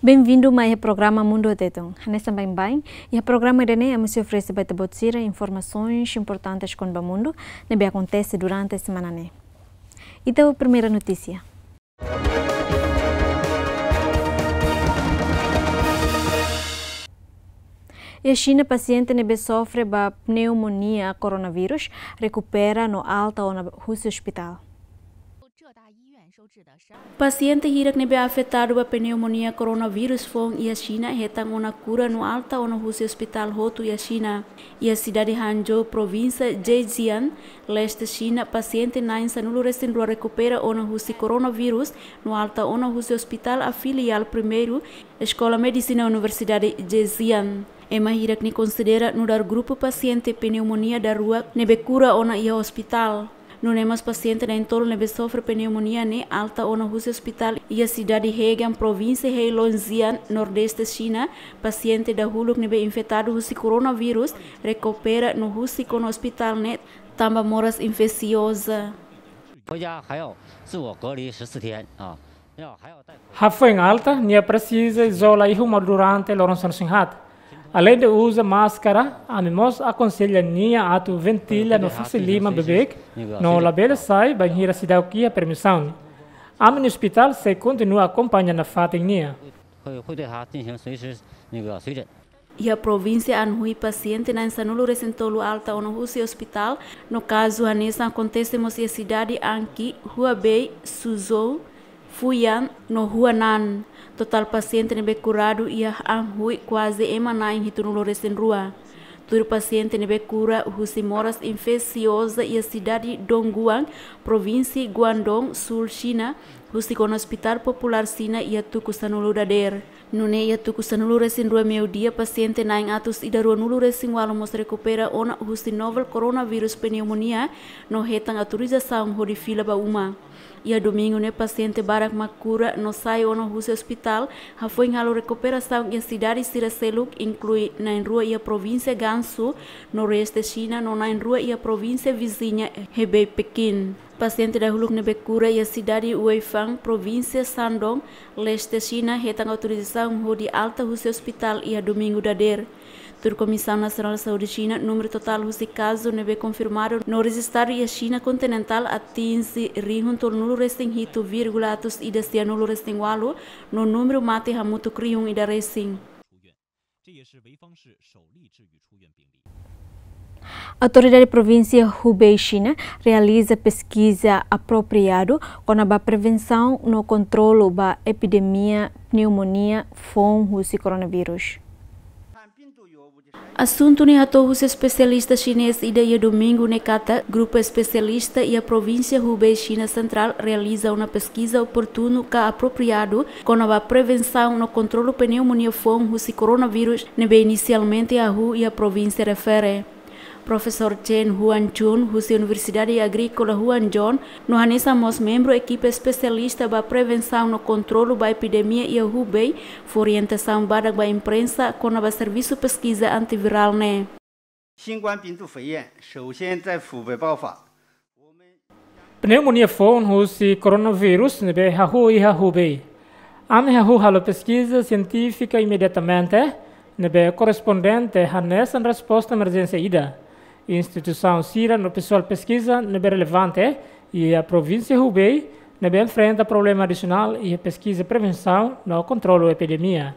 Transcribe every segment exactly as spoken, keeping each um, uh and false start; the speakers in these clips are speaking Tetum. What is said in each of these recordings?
Benvindu mai iha programa Mundu Tetun. Hanesan baibain, iha programa ida-ne'e ami sei oferese ba ita-boot sira informasoens importantes kona-ba mundu ne'ebé akontese durante semana ne'e. Ita ba primeira notísia. Iha Xina, pasiente ne'ebé sofre ba pneumonia coronavírus rekupera no alta ona husi ospitál. Pasiente hirak ne'ebé afetadu ba pneumonia coronavírus foun iha Xina hetan ona kura no alta ona husi ospitál hotu iha Xina. Iha sidade Hangzhou, provínsia Zhejiang, leste Xina, pasiente na'in-sanulu-resin-rua rekupera ona husi coronavírus no alta ona husi ospitál afiliál primeiru Eskola Medisina Universidade Zhejiang. Ema hirak ne'e konsidera nu'udar grupu pasiente pneumonia daruak ne'ebé kura ona iha ospitál. Nune'e mós pasiente na'in-tolu ne'ebé sofre pneumonia ne'e alta ona husi ospitál iha sidade Hegang, provínsia Heilongjiang, nordeste Xina. Pasiente dahuluk ne'ebé infetadu husi coronavírus rekupera no husik ona ospitál ne'e tanba moras infesioza. 回家还要自我隔离十四天啊，要还要戴口罩。 Hafoin alta, nia presiza izola iha uma durante loron sanulu-resin-haat. Aleinde uza máskara, ami mós akonsella nia atu ventila no fase liman beibeik, no labele sai bainhira seidauk iha permisaun. Ami-nia ospitál sei kontinua akompaña nafatin nia. 会，会对他进行随时那个随诊。 Iha provínsia Anhui, pasiente na'in-sanulu-resin-tolu alta ona husi ospitál, no kazu hanesan akontese mós iha sidade Anqing, Huabei, Suzhou, Fujian, no Huanan. Totál pasiente ne'ebé kuradu iha Anhui kuaze ema na'in-hitunulu-resin-rua. Tuir pasiente ne'ebé kura husi moras infesioza iha sidade Dongguan, provínsia Guangdong, súl Xina, husik ona ospitál populár Xina iha tuku sanulu dadeer. Nune'e iha tuku sanulu-resin-rua meiudia, pasiente na'in-atus ida ruanulu-resin-ualu mós rekupera ona husi novel coronavírus pneumonia no hetan autorizasaun hodi fila ba uma. Iha domingu ne'e pasiente barak mak kura no sai ona husi ospitál, hafoin halo rekuperasaun iha sidade sira seluk, inklui na'in-rua iha provínsia Gansu, nordeste Xina, no na'in-rua iha provínsia viziña, Hebei, Pekin. Pasiente dahuluk ne'ebé kura iha sidade Weifang, provínsia Shandong, leste Xina, hetan autorizasaun hodi alta husi ospitál iha domingu dadeer. Tuir Komisaun Nasionál Saúde Xina, númeru totál husi kazu ne'ebé konfirmadu no rejistadu iha Xina kontinentál atinje rihun tolunulu-resin-hitu vírgula atus ida sianulu-resin-ualu, no númeru mate hamutuk rihun ida resin. Autoridade provínsia Hubei Xina realiza peskiza apropriadu kona-ba prevensaun no kontrolu ba epidemia pneumonia foun husi coronavírus. Asuntu ne'e hato'o husi espesialista xinés ida iha domingu ne'e katak grupu espesialista iha provínsia Hubei, Xina sentrál, realiza ona peskiza oportunu ka apropriadu kona-ba prevensaun no kontrolu pneumonia foun husi coronavírus ne'ebé inisialmente hahú iha provínsia refere. Profesór Chen Huanchun, husi Universidade Agríkola Huangjong, no hanesan mós membru ekipa espesialista ba prevensaun no kontrolu ba epidemia iha Hubei, fó orientasaun badak ba imprensa kona-ba servisu peskiza antivirál ne'e. 新冠病毒肺炎首先在湖北爆发。 Pneumonia foun husi coronavírus ne'ebé hahú iha Hubei. Ami hahú halo peskiza sientífika imediatamente, ne'ebé korrespondente hanesan resposta emerjénsia ida. Instituisaun sira no pesoál peskiza ne'ebé relevante iha provínsia Hubei ne'ebé enfrenta problema adisionál iha peskiza prevensaun no kontrolu epidemia.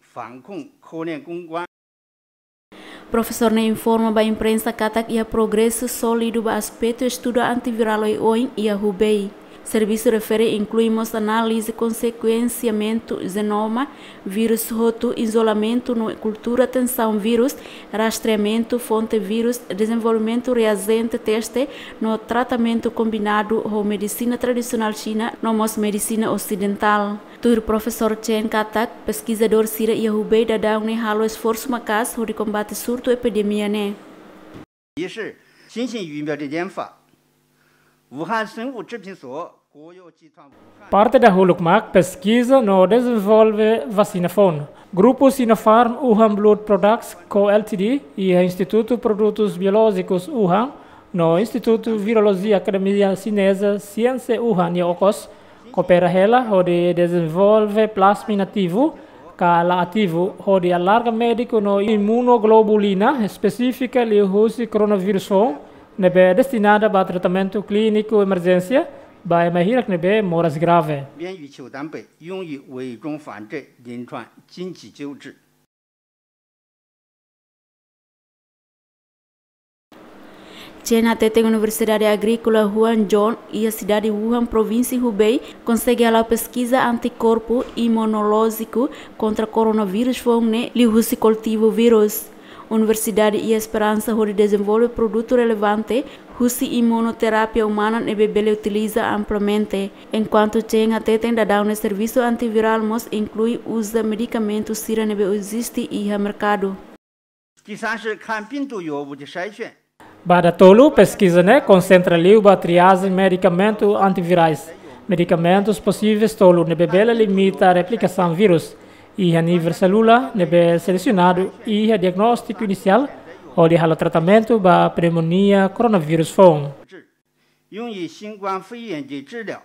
防控科研攻关。 Profesór ne'e informa ba imprensa katak iha progresu sólidu ba aspetu estudu antivirál oioin iha Hubei. Servisu refere inklui mós análize sekuensiamentu jenoma vírus hotu, izolamentu no kultura tensaun vírus, rastreamentu fonte vírus, dezenvolvimentu reajente teste no tratamentu kombinadu ho medisina tradisionál Xina no mós medisina osidentál. Tuir Profesór Chen katak, peskizadór sira iha Hubei daudaun ne'e halo esforsu maka'as hodi kombate surtu epidemia ne'e. 一是新型疫苗的研发，武汉生物制品所国有集团武汉。 Parte dahuluk mak peskiza no dezenvolve vasina foun. Grupu Sinopharm Wuhan Blood Products Co Ltd iha Institutu Produtus Biolójikus Wuhan no Institutu Virolojia Akademia Xineza Siénsia Wuhan nia okos, Koopera hela hodi dezenvolve plasma inativu ka la ativu hodi alarga médiku no imunoglobulina espesífika liuhusi koronavírus foun ne'ebé destinada ba tratamentu klíniku emerjénsia ba ema hirak ne'ebé moras grave. 边与球蛋白用于微创反射临床紧急救治。 Chen hateten Universidade Agríkola Huan John iha sidade Wuhan, provínsia Hubei, konsege hala'o peskiza antikorpu imunolójiku kontra koronavírus foun ne'e liuhusi kultivu vírus. Universidade iha esperansa hodi dezenvolve produtu relevante husi imunoterapia umana ne'ebé bele utiliza amplamente. Enkuantu Chen hateten daudaun ne'e servisu antivirál mós inklui uza medikamentu sira ne'ebé eziste iha merkadu. 第三是看病毒药物的筛选。 Ba datolu, peskiza ne'e konsentra liu ba triajen medikamentu antivirais, medikamentus posivel tolu ne'ebé bele limita replikasaun vírus iha nivel selula ne'ebé selesionadu iha diagnóstiku inisiál hodi halo tratamentu ba pneumonia koronavírus foun. 用于新冠肺炎的治疗。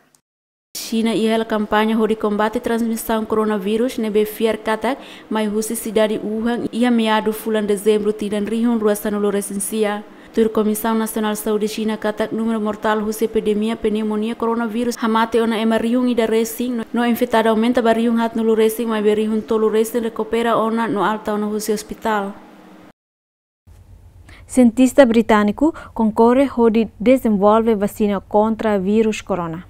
Xina iha hela kampaña hodi kombate transmisaun koronavírus ne'ebé fiar katak mai husi sidade Wuhan iha meadu fulan Dezembru tinan rihun rua sanulu resin sia. Tuir Komisaun Nasionál Saúde Xina katak númeru mortál husi epidemia pneumonia koronavírus hamate ona ema rihun ida resin no, no infetadu aumenta ba rihun haatnulu resin, maibé rihun tolu resin rekupera ona no alta ona husi ospitál. Sientista britániku konkorre hodi dezenvolve vasina kontra vírus korona.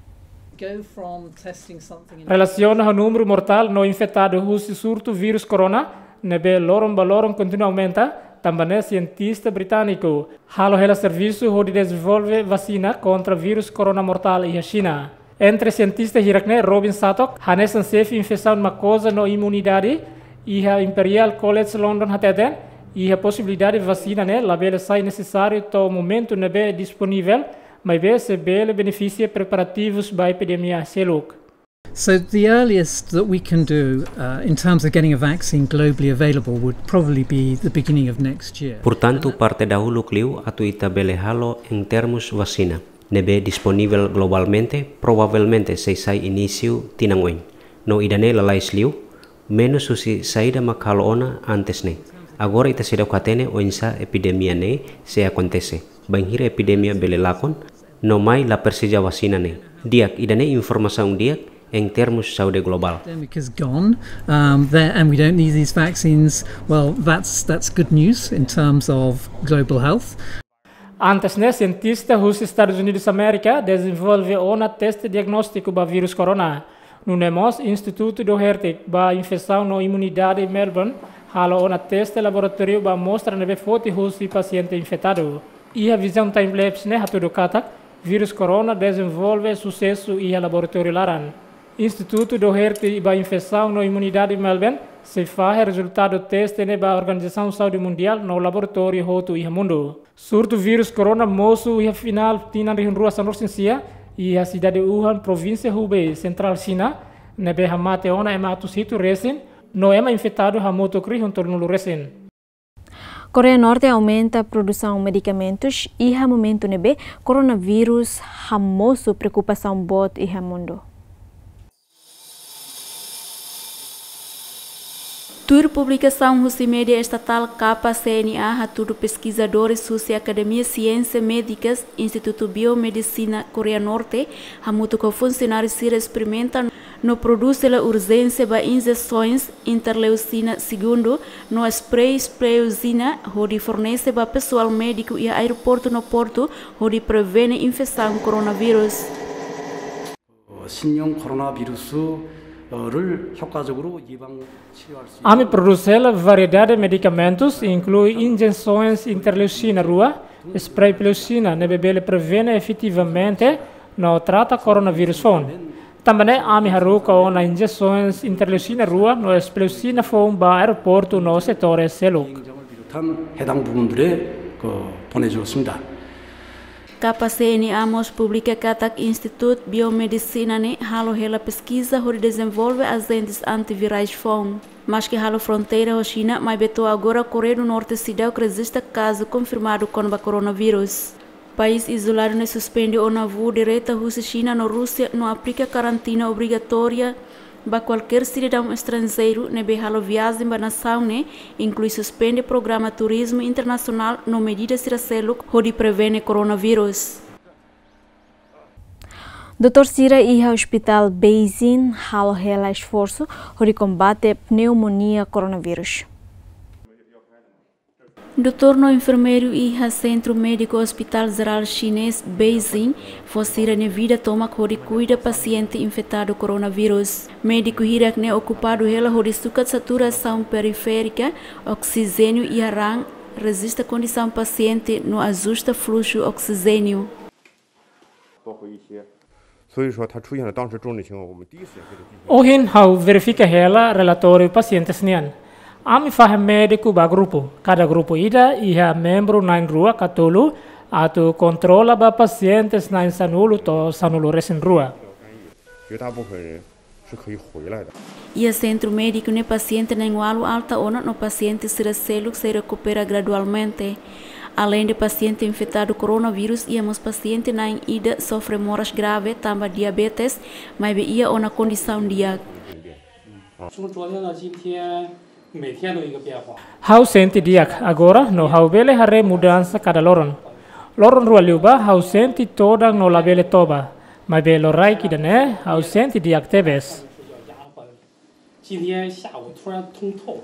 Go from testing something in Relasiona ho númeru mortál no infetadu husi surtu vírus korona ne'ebé loron ba loron kontinua aumenta, tanba ne'e sientista britániku halo hela servisu hodi dezenvolve vasina kontra vírus korona mortál iha Xina. Entre sientista hirak ne'e, Robin Sattock, hanesan xefe infesaun makoza no imunidade iha Imperial College London, hateten iha posibilidade vasina ne'e labele sai nesesáriu to'o momentu ne'ebé disponivel, maibé sei bele benefisia preparativus ba epidemia seluk. So the earliest that we can do, uh, in terms of getting a vaccine globally available would probably be the beginning of next year. Portantu, parte dahuluk liu atu ita bele halo em termos vasina ne'ebé disponivel globalmente, provavelmente sei sai inísiu tinan oin. No ida-ne'e lalais liu, menus husi saida mak halo ona antes ne'e. Agora ita seidauk hatene oinsá epidemia ne'e sei akontese, bainhira epidemia bele lakon, no mai la presiza vasina ne'e. Di'ak, ida-ne'e informasaun di'ak em termos saúde globál. Pandemic is gone, um, there, and we don't need these vaccines. Well, that's, that's good news in terms of global health. Antes ne'e, sientista husi Estadus Unidus Amérika dezenvolve ona teste diagnóstiku ba vírus korona. Nune'e mós Institutu Doherty ba Infesaun no Imunidade Melbourne halo ona teste laboratóriu ba amostra ne'ebé foti husi pasiente infetadu. Iha vizaun time-lapse ne'e hatudu katak vírus korona dezenvolve susesu iha laboratóriu laran. Institutu Doherty ba Infesaun no Imunidade Melbourne sei fahe rezultadu teste ne'e ba Organizasaun Saúde Mundiál no laboratóriu hotu iha mundu. Surtu vírus korona mosu iha finál tinan rihun rua sanulu resin sia iha sidade Wuhan, provínsia Hubei, sentrál Xina, ne'ebé hamate ona ema atus hitu resin, no ema infetadu hamutuk rihun tolunulu resin. Koreia Norte aumenta produsaun medikamentus iha momentu ne'ebé koronavírus hamosu preokupasaun boot iha mundu. Tuir publikasaun husi média estatál K C N A, hatudu peskizadores husi Akademia Siénsia Médikas, Institutu Biomedisina Koreia Norte, hamutuk ho funsionáriu sira esperimenta no prodús hela urjénsia ba injesoens interleucina segundu no spray spleuzina hodi fornese ba pesoál médiku iha aeroportu no portu hodi prevene infesaun koronavírus. 신형 코로나 바이러스를 효과적으로 예방 치료할 수 Ami prodús hela variedade medikamentus, inklui injesoens interleucina rua, spray spleuzina, ne'ebé bele prevene efetivamente no trata koronavírus foun. Tanba ne'e ami haruka ona injesoens interleucina rua no spleuzina foun ba aeroportu no setores seluk. 비롯한 해당 부분들에 그 보내주었습니다. K C N A mós publika katak Institutu Biomedisina ne'e halo hela peskiza hodi dezenvolve ajentes antivirais foun. Maski halo fronteira ho Xina, maibé to'o agora Koreia do Norte seidauk rejista kazu konfirmadu kona-ba koronavírus. País izoladu ne'e suspende ona voo direta husi Xina no Rúsia no aplika karantina obrigatória ba kualkér sidadaun estranjeiru ne'ebé halo viajen ba nasaun ne'e, inklui suspende programa turizmu internasionál no medida sira seluk hodi prevene koronavírus. Doutór sira iha Hospital Beijing halo hela esforsu hodi kombate pneumonia koronavírus. Doutór no enfermeiru iha Sentru Médiku Hospital Jerál Xinés Beijing fó sira-nia vida tomak hodi kuida pasiente infetadu koronavírus. Médiku hirak ne'e okupadu hela hodi sukat saturasaun periférika, oksijéniu iha raan, rejista kondisaun pasiente no ajusta fluxu oksijéniu. 所以说他出现了当时重症情况，我们第一时间给他进行。 Ohin ha'u verifika hela relatóriu pasientes nian. Ami fahe médiku ba grupu, kada grupu ida iha membru na'in rua ka tolu, atu kontrola ba pasientes na'in sanulu to'o sanulu resin rua. 绝大部分人是可以回来的。 Iha sentru médiku ne'e pasiente na'in ualu alta ona no pasiente sira seluk sei rekupera gradualmente. Aleinde pasiente infetadu koronavírus, iha mós pasiente na'in ida sofre moras grave tanba diabetes, maibé iha ona kondisaun di'ak. 从昨天到今天，每天都一个变化。 Ha'u sente di'ak agora no ha'u bele haree mudansa kada loron. Loron rua liubá ha'u sente todan no labele toba. Maibé loraik ida-ne'e ha'u sente di'ak tebes. 今天下午突然通透。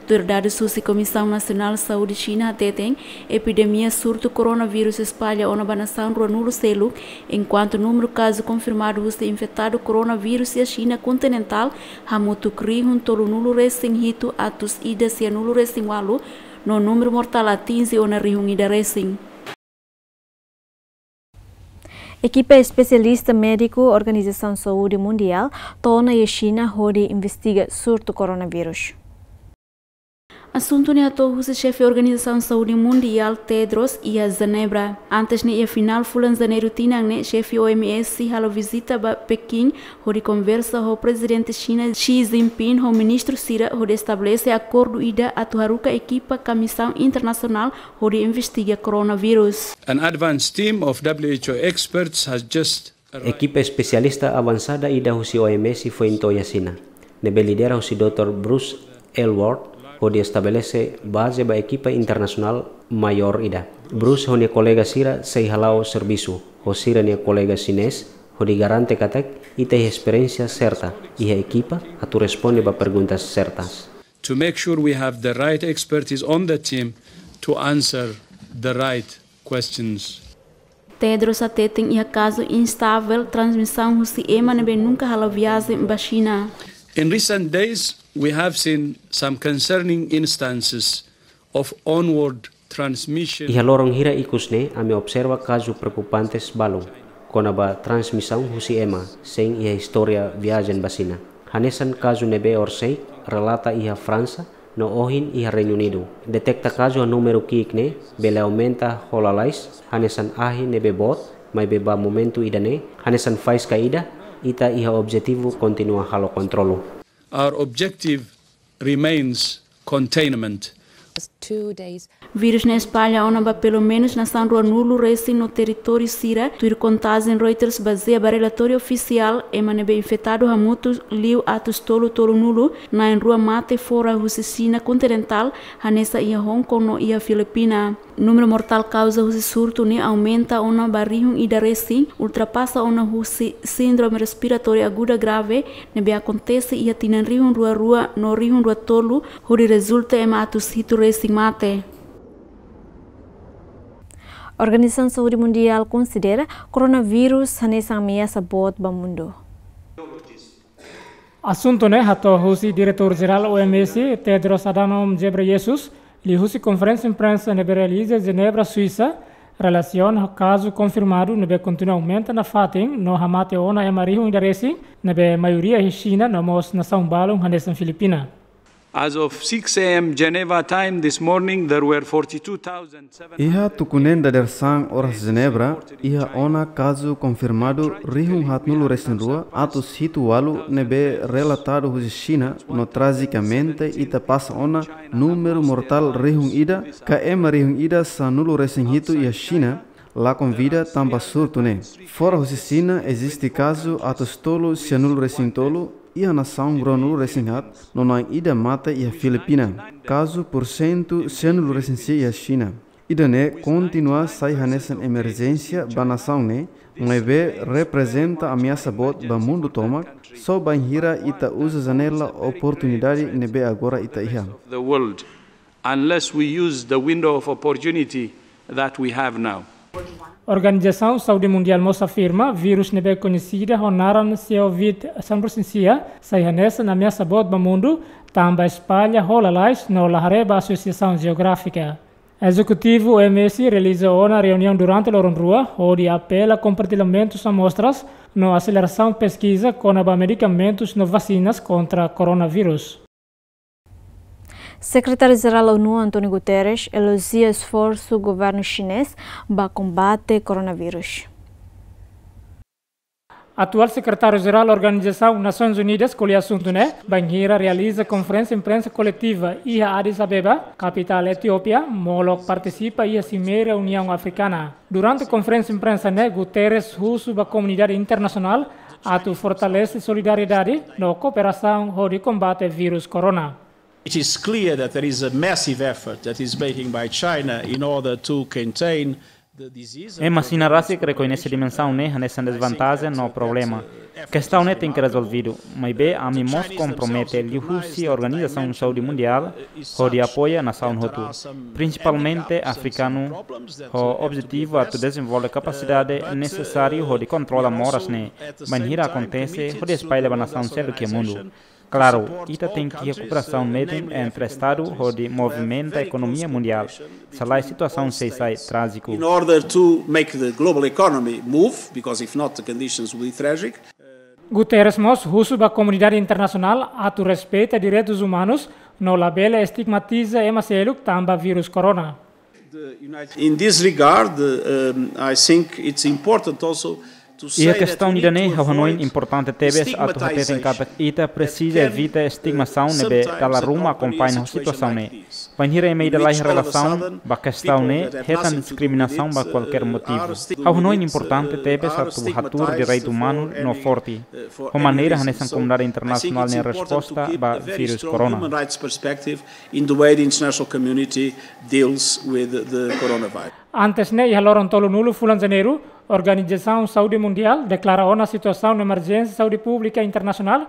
Tuir dadus husi Komisaun Nasionál Saúde Xina hateten, epidemia surtu koronavírus espalla ona ba nasaun ruanulu seluk, enkuantu númeru kazu konfirmadu husi infetadu koronavírus iha Xina kontinentál hamutuk rihun tolunulu resin hitu atus ida sianulu resin ualu, no númeru mortál atinje ona rihun ida resin. Ekipa espesialista médiku Organizasaun Saúde Mundiál to'o ona iha Xina hodi investiga surtu koronavírus. Asuntu ne'e hato'o husi xefe Organizasaun Saúde Mundiál, Tedros, iha Jenebra. Antes ne'e, iha finál fulan Janeiru tinan ne'e, xefe O M S halo vizita ba Pekin, hodi konversa ho Prezidente Xina Xi Jinping ho ministru sira hodi estabelese akordu ida atu haruka ekipa komisaun internasionál hodi investiga koronavírus. An advanced team of W H O experts has just arrived. Ekipa espesialista avansada ida husi O M S foin to'o iha Xina, ne'ebé lidera husi doutór Bruce Aylward, hodi estabelese baze ba ekipa internasionál maiór ida. Bruce ho nia kolega sira sei hala'o servisu ho sira-nia kolega xinés, hodi garante katak ita iha esperiénsia serta iha ekipa atu responde ba perguntas sertas. To make sure we have the right expertise on the team to answer the right questions. Tedros hateten iha kazu instavel transmisaun husi ema ne'ebé nunka halo viajen ba Xina. In recent days, we have seen some concerning instances of onward transmission. Iha loron hira ikus ne'e, ami observa kazu preokupantes balun kona-ba transmisaun husi ema sein iha istória viajen ba Xina. Hanesan kazu ne'ebé orsida relata iha Fransa, no ohin iha Reinu Unidu. Deteta kazu ho númeru ki'ik ne'e bele aumenta ho lalais, hanesan ahi ne'ebé boot, maibé ba momentu ida-ne'e, hanesan faíska ida, ita iha objetivu kontinua halo kontrolu. Our objective remains containment. Two days. Vírus ne'e espalla ona ba pelumenus nasaun ruanulu resin no territóriu sira, tuir kontajen Reuters bazeia ba relatóriu ofisiál, ema ne'ebé infetadu hamutuk liu atus tolu tolunulu, na'in rua mate fora husi Xina kontinentál, hanesan iha Hong Kong no iha Filipina. Númeru mortál kauza husi surtu ne'e aumenta ona ba rihun ida resin, ultrapasa ona husi síndrome respiratória aguda grave, ne'ebé akontese iha tinan rihun rua rua no rihun rua tolu, hodi rezulta ema atus hitu resin mate. Organizasaun Saúde Mundiál konsidera koronavírus hanesan ameasa boot ba mundu. Asuntu ne'e hato'o husi Diretór Jerál O M S, Tedros Adhanom Ghebreyesus, liuhusi konferénsia imprensa ne'ebé realiza Jenebra, Suisa, relasiona ho kazu konfirmadu ne'ebé kontinua aumenta nafatin no hamate ona ema rihun ida resin, ne'ebé maioria iha Xina no mós nasaun balun hanesan Filipina. As of six A M Geneva time this morning, there were forty-two thousand seven hundred. Iha tuku neen dadeer-saan oras Jenebra, iha ona kazu konfirmadu rihun haatnulu resin rua atus hitu ualu ne'ebé relatadu husi Xina, no trajikamente ita pasa ona númeru mortál rihun ida, ka ema rihun ida sanulu resin hitu iha Xina, La konvida tanba surtu ne'e. Fora husi Xina eziste kazu atus tolu sianulu resin tolu iha nasaun ruanulu resin haat, no na'in ida mate iha Filipina. Kazu porsentu sianulu resin sia iha Xina. Ida-ne'e kontinua sai hanesan emerjénsia ba nasaun ne'e, maibé reprezenta ameasa boot ba mundu tomak, só bainhira ita uza janela oportunidade ne'ebé agora ita iha. The world, unless we use the window of opportunity that we have now. Organizasaun Saúde Mundiál mós afirma vírus ne'ebé koñesida ho naran COVID sanulu resin sia sai hanesan ameasa boot ba mundu, tanba espalla ho lalais no la haree ba asosiasaun jeográfika. Ezekutivu O M S realiza ona reuniaun durante loron rua, hodi apela kompartillamentu amostras no aselerasaun peskiza kona-ba medikamentus no vasinas kontra koronavírus. Sekretáriu-Jerál ONU, António Guterres, elojia esforsu governu xinés ba kombate koronavírus. Atuál Sekretáriu-Jerál Organizasaun Nasoins Unidas ko'alia asuntu ne'e bainhira realiza konferénsia imprensa koletiva iha Addis Abeba, kapitál Etiópia, molok partisipa iha Simeira Uniaun Afrikana. Durante konferénsia imprensa ne'e, Guterres husu ba komunidade internasionál atu fortalese solidariedade no kooperasaun hodi kombate vírus korona. It is clear that there is a massive effort that is making by China in order to contain the disease. Ema Xina rasik rekoñese dimensaun ne'e hanesan dezvantajen no problema. Kestaun ne'e tenke rezolvidu, maibé ami mós kompromete liuhusi Organizasaun Saúde Mundiál hodi apoia nasaun hotu, prinsipalmente afrikanu, ho objetivu atu dezenvolve kapasidade nesesáriu hodi kontrola moras ne'e bainhira akontese hodi espalla ba nasaun seluk iha mundu. Klaru, ita tenke iha kooperasaun metin entre Estadu hodi movimenta ekonomia mundiál, se lae situasaun sei sai trájiku. In order to make the global economy move, because if not the conditions will be tragic. Guterres mós husu ba komunidade internasionál atu respeita direitus umanus no labele estigmatiza ema seluk tanba vírus korona. In this regard, um, I think it's important also to say that we need to avoid stigmatization. Iha kestaun ida-ne'e, ha'u hanoin importante tebes atu hateten katak ita presiza evita estigmasaun ne'ebé dala ruma akompaña ho situasaun ne'e. Bainhira ema ida la iha relasaun ba kestaun ne'e, hetan diskriminasaun ba kualkér motivu. Ha'u hanoin importante tebes atu hatuur direitu umanu no forte, ho maneira hanesan komunidade internasionál nia resposta ba vírus korona. In the way the international community deals with the coronavirus. Antes ne'e, iha loron tolunulu fulan Janeiru, Organizasaun Saúde Mundiál deklara ona situasaun emerjénsia saúde públika internasionál,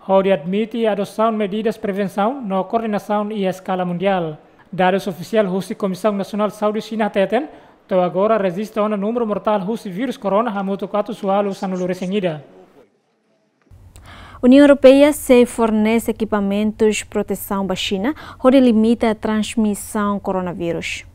hodi admite adosaun medidas prevensaun no koordenasaun iha eskala mundiál. Dadus ofisiál husi Komisaun Nasionál Saúde Xina hateten, to'o agora rejista ona númeru mortál husi vírus korona hamutuk atus ualu sanulu resin ida. Uniaun Europeia sei fornese ekipamentus protesaun ba Xina, hodi limita transmisaun koronavírus.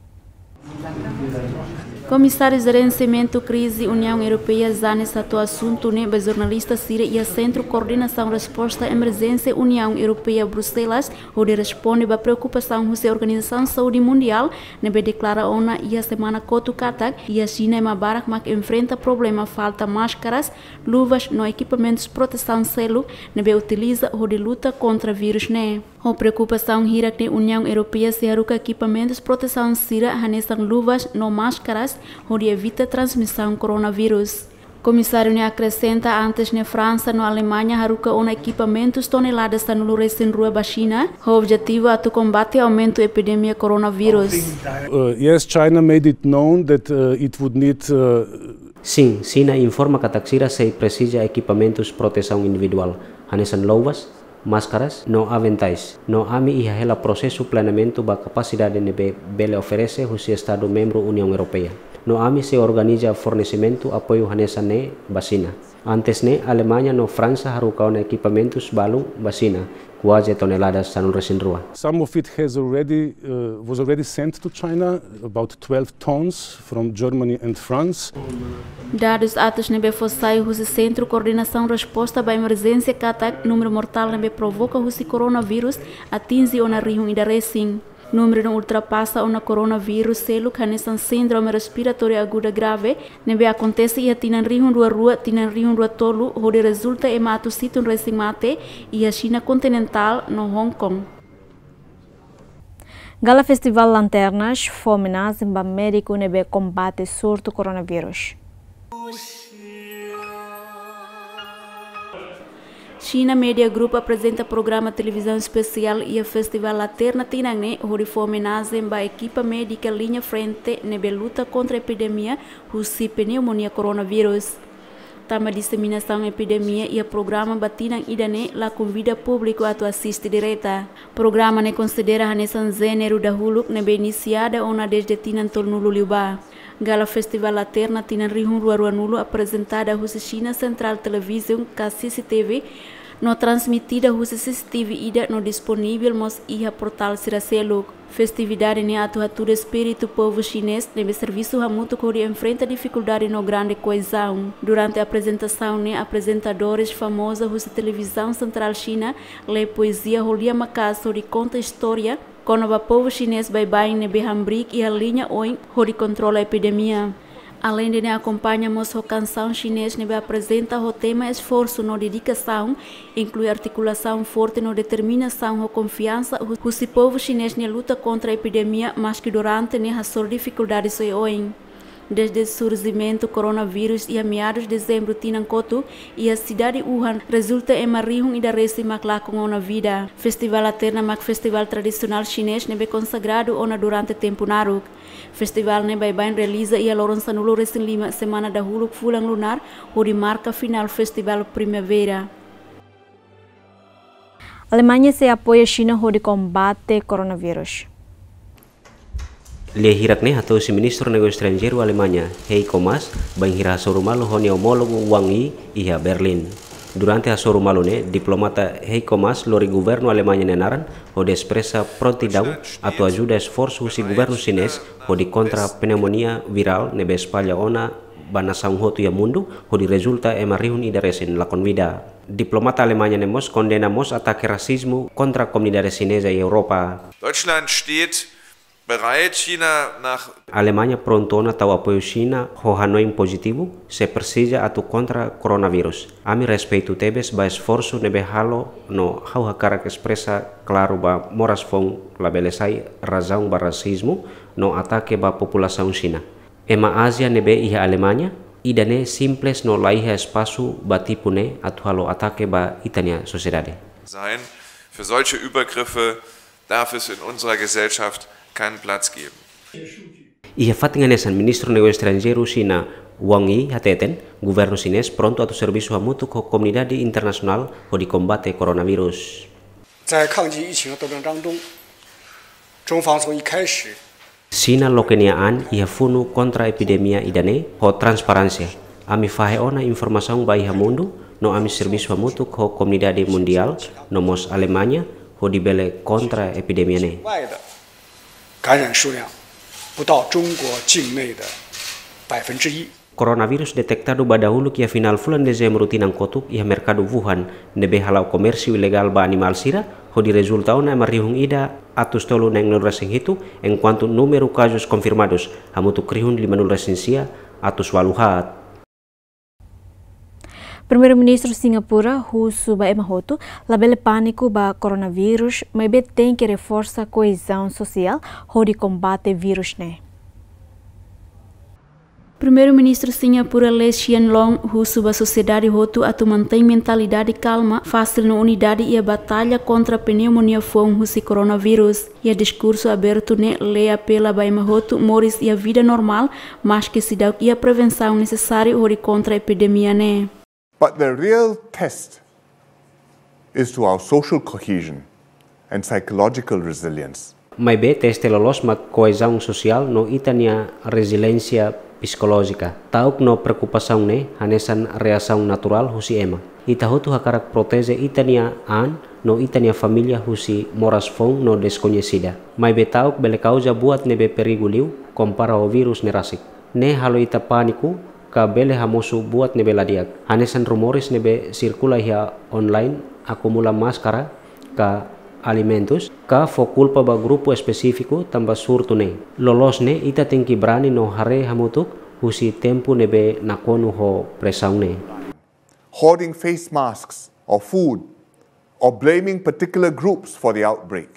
Komisáriu Jerenciamentu Krize Uniaun Europeia, Janez, hato'o asuntu ne'e ba jornalista sira iha Sentru Koordenasaun Resposta Emerjénsia Uniaun Europeia, Bruxelas, hodi responde ba preokupasaun husi Organizasaun Saúde Mundiál, ne'ebé deklara ona iha semana kotuk katak iha Xina ema barak mak enfrenta problema falta máskaras, luvas no ekipamentus protesaun seluk ne'ebé utiliza hodi luta kontra vírus ne'e. Ho preokupasaun hirak ne'e, Uniaun Europeia sei haruka ekipamentus protesaun sira hanesan luvas no máskaras hodi evita transmisaun koronavírus. Komisáriu ne'e akresenta, antes ne'e Fransa no Alemaña haruka ona ekipamentus tonelada sanulu resin rua ba Xina, ho objetivu atu kombate aumentu epidemia koronavírus. Uh, yes, China made it known that, uh, it would need, uh, Sin, Xina informa katak sira sei presiza ekipamentus protesaun individuál, hanesan luvas, máskaras, no aventais. No ami iha hela prosesu planeamentu ba kapasidade ne'ebé bele oferese husi Estadu membru Uniaun Europeia. No ami sei organiza fornesimentu apoiu hanesan ne'e ba Xina. Antes ne'e, Alemaña no Fransa haruka ona ekipamentus balu ba Xina, kuaze tonelada sanulu resin rua. Some of it has already, uh, was already sent to China, about twelve tons from Germany and France. Dadus atus ne'ebé fó sai husi Sentru Koordenasaun Resposta ba Emerjénsia katak númeru mortál ne'ebé provoka husi koronavírus atinje ona rihun ida resin. Númeru ne'e ultrapasa ona koronavírus seluk hanesan síndrome respiratória aguda grave, ne'ebé akontese iha tinan rihun rua rua, tinan rihun rua tolu, hodi rezulta ema atus hitu resin mate iha Xina kontinentál no Hong Kong. Gala Festival Lanternas fó omenajen ba médiku ne'ebé kombate surtu koronavírus. China Media Group aprezenta programa televizaun espesiál iha Festival Lanterna tinan ne'e, hodi fó omenajen ba ekipa médika liña frente ne'ebé luta kontra epidemia husi pneumonia koronavírus. Tanba diseminasaun epidemia iha programa ba tinan ida-ne'e la konvida públiku atu asiste direta. Programa ne'e konsidera hanesan jéneru dahuluk ne'ebé inisiada ona dezde tinan tolunulu liubá. Gala Festival Lanterna tinan rihun rua ruanulu aprezentada husi China Central Television ka C C T V, no transmitida husi C C T V ida no disponivel mós iha portál sira seluk. Festividade ne'e atu hatudu espíritu povu xinés ne'ebé servisu hamutuk hodi enfrenta difikuldade no grande koezaun. Durante aprezentasaun ne'e, aprezentadores famozu husi televizaun sentrál Xina lee poezia ho lian maka'as hodi konta istória kona-ba povu xinés baibain ne'ebé hamriik iha liña oin hodi kontrola epidemia. Aleinde ne'e, akompaña mós ho kansaun xinés ne'ebé aprezenta ho tema esforsu no dedikasaun, inklui artikulasaun forte no determinasaun ho konfiansa hu-, husi povu xinés nia luta kontra epidemia, maski durante ne'e hasoru difikuldades oioin. Dezde surjimentu koronavírus iha meadus dezembru tinan kotuk, iha sidade Wuhan, rezulta ema rihun ida resin mak lakon ona vida. Festival Lanterna mak festival tradisionál xinés ne'ebé konsagradu ona durante tempu naruk. Festival ne'e baibain realiza iha loron sanulu resin lima semana dahuluk fulan lunar, hodi marka finál festival primavera. Alemanha sei apoia Xina hodi kombate koronavírus. Lia hirak ne'e hato'o husi Ministru Negósiu Estranjeiru Alemanha, Heiko Maas, bainhira hasoru malu ho nia omólogu Wang Yi iha Berlin. Durante hasoru malu ne'e, diplomata Heiko Maas lori governu Alemanha nia naran hodi espresa prontidaun atu ajuda esforsu husi governu xinés hodi kontra pneumonia virál ne'ebé espalla ona ba nasaun hotu iha mundu, hodi rezulta ema rihun ida resin lakon vida. Diplomata Alemanha ne'e mós kondena mós atake rasizmu kontra komunidade xineza iha Europa. Deutschland steht bereit, China nach Alemanha prontu ona tau apoiu Xina ho hanoin pozitivu, se presiza atu kontra koronavírus. Ami respeitu tebes ba esforsu ne'ebé halo no ha'u hakarak espresa klaru ba moras foun labele sai razaun ba rasizmu no atake ba populasaun Xina. Ema Ázia ne'ebé iha Alemanha, ida-ne'e simples no laiha espasu ba tipu ne'e atu halo atake ba ita-nia sosiedade. Sein. Für solche Übergriffe darf es in unserer Gesellschaft keinen Platz geben. Iha fatin hanesan, Ministru Negósiu Estranjeiru Xina Wang Yi hateten, governu xinés prontu atu servisu hamutuk ho komunidade internasionál hodi kombate koronavírus. 在抗击疫情的斗争当中，中方从一开始 Xina loke nia an iha funu kontra epidemia ida-ne'e ho transparénsia. Ami fahe ona informasaun ba iha mundu, no ami servisu hamutuk ho komunidade mundiál, no mós Alemanha, hodi bele kontra epidemia ne'e. 外的感染数量不到中国境内的百分之一。 Koronavírus detektadu ba dahuluk iha finál fulan Dezembru tinan kotuk iha merkadu Wuhan, ne'ebé hala'o komérsiu ilegál ba animál sira, hodi rezulta ona ema rihun ida atus tolu neenulu resin hitu, enkuantu númeru kazus konfirmadus hamutuk rihun limanulu resin sia atus ualu haat. Primeiru-Ministru Singapura husu ba ema hotu labele pániku ba koronavírus, maibé tenke reforsa koezaun sosiál hodi kombate vírus ne'e. Primeiru-Ministru Singapura Lee Hsien Loong husu ba sosiedade hotu atu mantein mentalidade kalma, fasil no unidade iha batalla kontra pneumonia foun husi koronavírus. Iha diskursu abertu ne'e, Lee apela ba ema hotu moris iha vida normál, maske seidauk iha prevensaun nesesáriu hodi kontra epidemia ne'e. But the real test is to our social cohesion and psychological resilience. Maibé teste loloos mak koezaun sosiál no ita-nia reziliénsia psikolójika. Ta'uk no preokupasaun ne'e hanesan reasaun naturál husi ema. Ita hotu hakarak proteje ita-nia an no ita-nia família husi moras foun no deskoñesida. Maibé ta'uk bele kauza buat ne'ebé perigu liu kompara ho vírus ne'e rasik. Ne'e halo ita pániku, ka bele hamosu buat ne'ebé la di'ak. Hanesan rumores ne'ebé sirkula iha online, akumula máskara ka alimentus, ka fó kulpa ba grupu espesífiku tanba surtu ne'e. Loloos ne'e, ita tenke brani no haree hamutuk husi tempu ne'ebé nakonu ho presaun ne'e. Hoarding face masks or food or blaming particular groups for the outbreak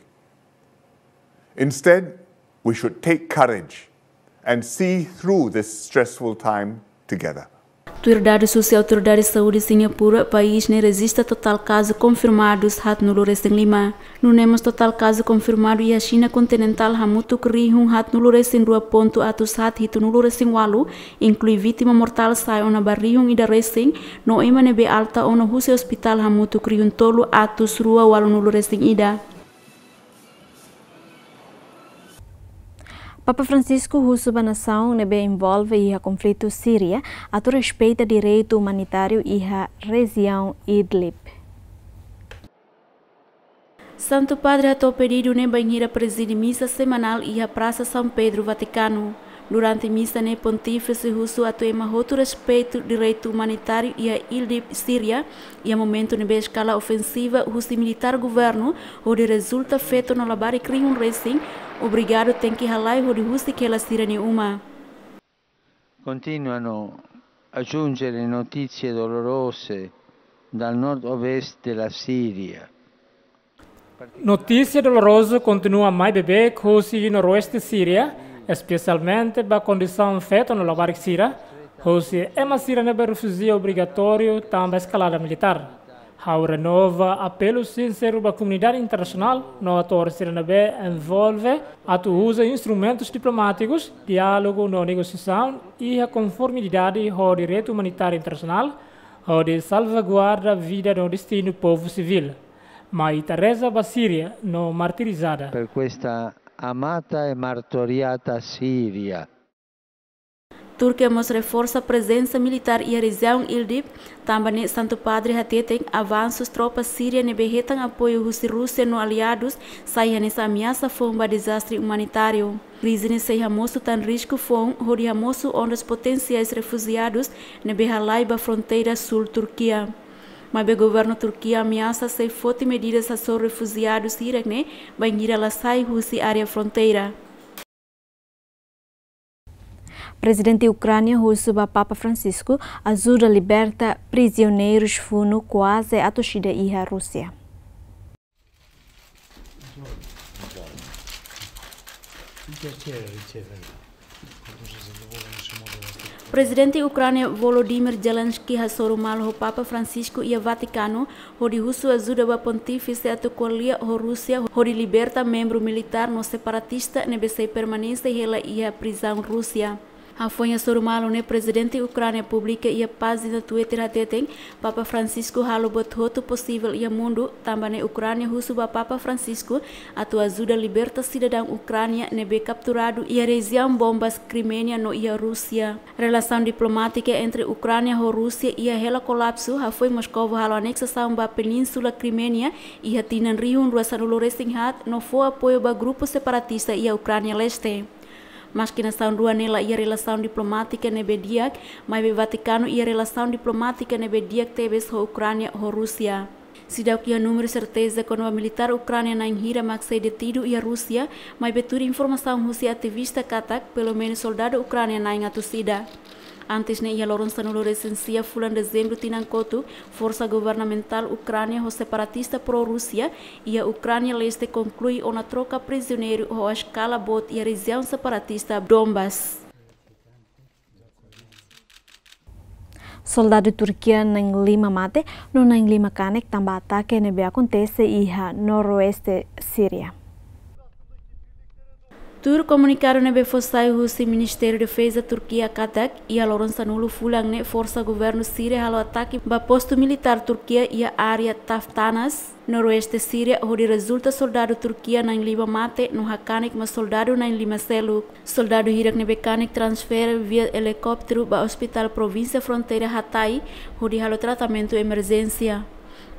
Instead, we should take courage and see through this stressful time together. Tuir dadus husi autoridade saúde Singapura, país ne'e rejista totál kazu konfirmadus haatnulu resin lima. Nune'e mós totál kazu konfirmadu iha Xina kontinentál hamutuk rihun haatnulu resin rua pontu atus haat hitunulu resin ualu, inklui vítima mortál sai ona ba rihun ida resin, no ema ne'ebé alta ona husi ospitál hamutuk rihun tolu atus rua ualunulu resin ida. Papa Francisco husu ba nasaun ne'ebé envolve iha konflitu Síria atu respeita direitu umanitáriu iha rejiaun Idlib. Santu Padre hato'o pedidu ne'e bainhira prezide misa semanál iha Prasa São Pedro, Vatikanu. Durante misa ne'e, Pontífise husu atu ema hotu respeitu direitu umanitáriu iha Idlib, Síria, iha momentu ne'ebé eskala ofensiva husi militár governu, hodi rezulta feto no labarik rihun resin, obrigadu tenke halai hodi husik hela sira-nia uma. Continuano a giungere notizie dolorose dal nord-ovest della Siria. Notísia dolorozu kontinua mai bebeik husi noroeste Síria, espesialmente ba kondisaun feto no labarik sira, husi ema sira ne'ebé refújiu obrigatóriu tanba eskalada militár. Ha'u renova apelu sinseru ba komunidade internasionál no atór sira ne'ebé envolve atu uza instrumentus diplomátikus, diálogu no negosiasaun iha konformidade ho direitu umanitáriu internasionál, hodi salvaguarda vida no destinu povu sivíl. Mai ita reza ba Síria no martirizada. Per questa amata e martoriata Siria. Turkia mós reforsa prezensa militár iha rejiaun Idlib, tanba ne'e Santu Padre hateten avansu tropa Síria ne'ebé hetan apoiu husi Rúsia no aliadus sai hanesan ameasa foun ba dezastre umanitáriu. Krize ne'e sei hamosu tan risku foun hodi hamosu ondas potensiais refújiadus ne'ebé halai ba fronteira súl Turkia. Maibé governu Turkia ameasa sei foti medidas hasoru refújiadus hirak ne'e bainhira la sai husi área fronteira. Prezidente Ukránia husu ba Papa Francisco ajuda liberta prizioneirus funu kuaze atus ida iha Rúsia. Prezidente Ukránia Volodymyr Zelensky hasoru malu ho Papa Francisco iha Vatikanu, hodi husu ajuda ba Pontífise atu ko'alia ho Rúsia, hodi liberta membru militár no separatista ne'ebé sei permanese hela iha prizaun Rúsia. Hafoin hasoru malu ne'e, Prezidente Ukránia publika iha pájina Twitter hateten, Papa Francisco halo buat hotu posivel iha mundu, tanba ne'e Ukránia husu ba Papa Francisco atu ajuda liberta sidadaun Ukránia ne'ebé kapturadu iha rejiaun Donbas, Kriménia no iha Rúsia. Relasaun diplomátika entre Ukránia ho Rúsia iha hela kolapsu, hafoin Moskovu halo aneksasaun ba Península Kriménia iha tinan rihun rua sanulu resin haat no fó apoiu ba grupu separatista iha Ukránia Leste. Maski nasaun rua ne'e la iha relasaun diplomátika ne'ebé di'ak, maibé Vatikanu iha relasaun diplomátika ne'ebé di'ak tebes ho Ukránia ho Rúsia. Seidauk iha númeru serteza kona-ba militár Ukránia na'in hira mak sei detidu iha Rúsia, maibé tuir informasaun husi ativista katak, pelumenus soldadu Ukránia na'in atus ida. Antes ne'e, iha loron sanulu resin sia fulan Dezembru tinan kotuk, forsa governamentál Ukránia ho separatista pró-Rúsia iha Ukránia Leste konklui ona troka prizioneiru ho eskala boot iha rejiaun separatista Donbas. Soldadu Turkia na'in lima mate no na'in lima kanek tanba atake ne'ebé akontese iha noroeste Síria. Tuir komunikadu ne'ebé fó sai husi Ministériu Defeza Turkia katak, iha loron sanulu fulan ne'e forsa governu Síria halo atake ba postu militár Turkia iha área Taftanas, noroeste Síria, hodi rezulta soldadu Turkia na'in lima mate no hakanek mós soldadu na'in lima seluk. Soldadu hirak ne'ebé kanek transfere via elikópteru ba Ospitál Provínsia Fronteira Hatay, hodi halo tratamentu emerjénsia.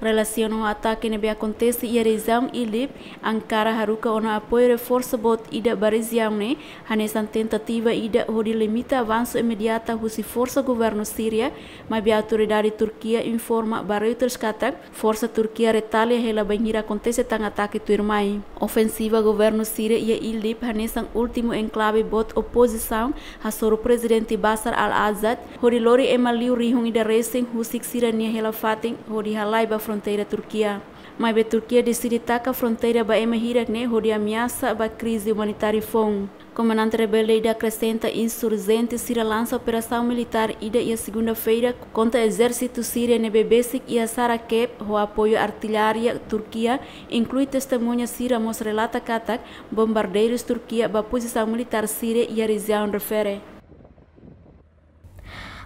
Relasiona ho atake ne'ebé akontese iha rejiaun Idlib, Ankara haruka ona apoiu reforsu boot ida ba rejiaun ne'e, hanesan tentativa ida hodi limita avansu imediata husi forsa governu Síria, maibé autoridade Turkia informa ba Reuters katak, forsa Turkia retalia hela bainhira akontese tan atake tuirmai. Ofensiva governu Síria iha Idlib hanesan últimu enklave boot opozisaun hasoru Prezidente Bashar al-Assad, hodi lori ema liu rihun ida resin husik sira-nia hela-fatin hodi halai ba fronteira Turkia. Maibé Turkia deside taka fronteira ba ema hirak ne'e hodi ameasa ba krize umanitária foun. Komandante rebelde ida akresenta insurjente sira lansa operasaun militár ida iha segunda-feira kontra ezérsitu Síria ne'ebé besik iha Sarakep ho apoiu artillaria Turkia, inklui testemuña sira mós relata katak bombardeirus Turkia ba pozisaun militár Síria iha rejiaun refere.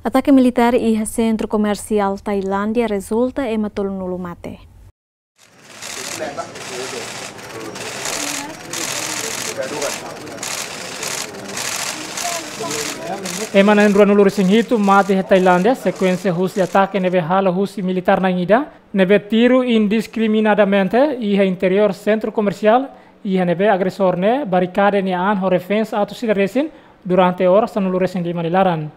Atake militár iha sentru komersiál Tailándia rezulta ema tolunulu mate. Ema na'in ruanulu-resin-hitu mate iha Tailándia, sekuénsia husi atake ne'ebé halo husi militár na'in ida, ne'ebé tiru indiskriminadamente iha interiór sentru komersiál, iha ne'ebé agresór ne'e barikada nia an ho reféns atus ida resin durante oras sanulu-resin-lima nia laran.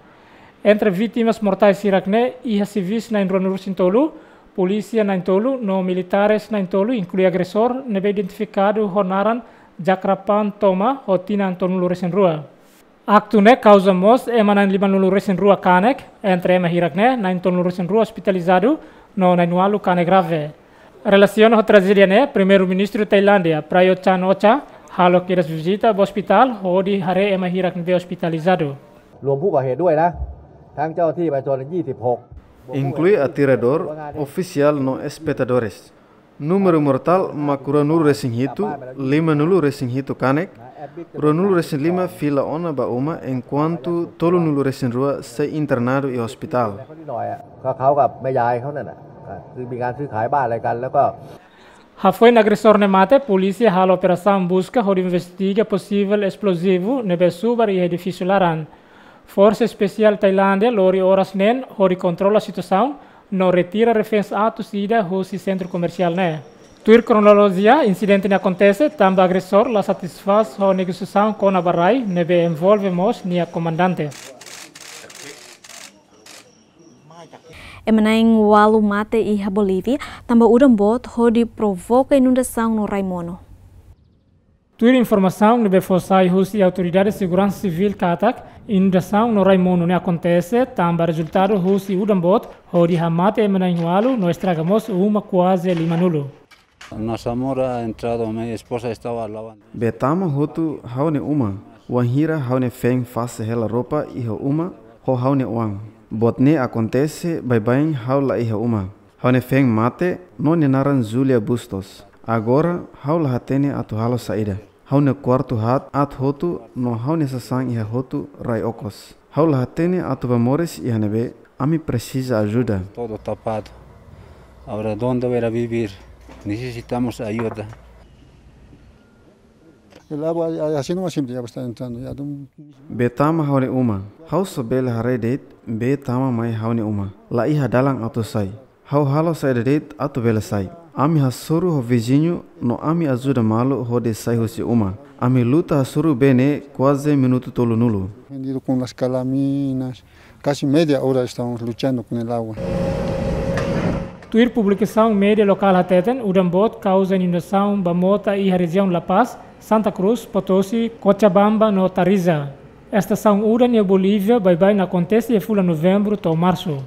Entre vítimas mortais hirak ne'e iha sivis na'in ruanulu-resin-tolu, polísia na'in tolu no militares na'in tolu, inklui agresór ne'ebé identifikadu ho naran Jakrapan Thoma ho tinan tolunulu-resin-rua. Aktu ne'e kauza mós ema na'in limanulu-resin-rua kanek, entre ema hirak ne'e na'in tolunulu-resin-rua ospitalizadu no na'in ualu kanek grave. Relasiona ho trajédia ne'e, Primeiru-Ministru Tailándia, Prayut Chan-o-cha, halo kedas vizita ba ospitál hodi haree ema hirak ne'ebé ospitalizadu. รวมผู้ก่อเหตุด้วยนะ ทั้งเจ้าหน้าที่ประชาชน ยี่สิบหก Inklui atiradór, ofisiál no espetadores. Númeru mortál mak ruanulu-resin-hitu, limanulu-resin-hitu kanek, ruanulu-resin-lima fila ona ba uma, enkuantu tolunulu-resin-rua sei internadu iha ospitál. ก็เขากับแม่ยายเขานั่นน่ะ ก็คือมีการซื้อขายบ้านอะไรกัน แล้วก็ Hafoin agresór ne'e mate, polísia halo operasaun buska hodi investiga posivel esplózivu ne'ebé subar iha edifísiu laran. Forsa Espesiál Tailándia lori oras neen hodi kontrola situasaun no retira reféns atus ida husi sentru komersiál ne'e. Tuir kronolojia, insidente ne'e akontese tanba agresór la satisfás ho negosiasaun kona-ba rai ne'ebé envolve mós nia komandante. Ema na'in ualu mate iha Bolívia tanba udan boot hodi provoka inundasaun no rai monu. Tuir informasaun ne'ebé fó sai husi Autoridade Seguransa Sivíl katak inundasaun no rai monu ne'e akontese tanba rezultadu husi udan boot hodi hamate ema na'in ualu no estraga mós uma kuaze limanulu. Nossa mora entrado, minha esposa estava lavando. Bee tama hotu ha'u-nia uma, wainhira ha'u-nia feen fase hela roupa iha uma ho ha'u-nia oan. Boot ne'e akontese baibain ha'u la iha uma. Ha'u-nia feen mate, no nia naran Julia Bustos. Agora, ha'u la hatene atu halo saida. Ha'u-nia kuartu haat aat hotu, no ha'u-nia sasán iha hotu rai okos. Ha'u la hatene atu bá moris iha ne'ebé, ami presiza ajuda. Todo tapado. Agora, onde vai ir a vivir? Necesitamos ajuda. El agua, así nomás siempre ya está entrando, ya de un... Bee tama ha'u-nia uma. Ha'u só bele haree de'it, bee tama mai ha'u-nia uma. La iha dalan atu sai. Ha'u halo saida de'it atu bele sai. Ami hasoru ho viziñu no ami ajuda malu hodi sai husi uma. Ami luta hasoru bee ne'e kuaze minutu tolunulu. Vendido con las calaminas. Casi media hora estamos luchando con el agua. Tuir publikasaun média lokál hateten, udan boot kauza inundasaun ba mota iha rejiaun La Paz, Santa Cruz, Potosi, Cochabamba no Tarija. Estasaun udan iha Bolívia baibain akontese iha fulan Novembru to'o Marsu.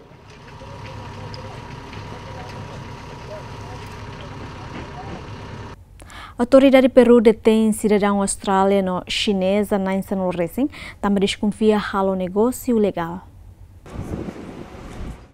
Autoridade Peru detein sidadaun Austrália no Xineza na'in sanulu resin, tanba deskonfia halo negósiu ilegál.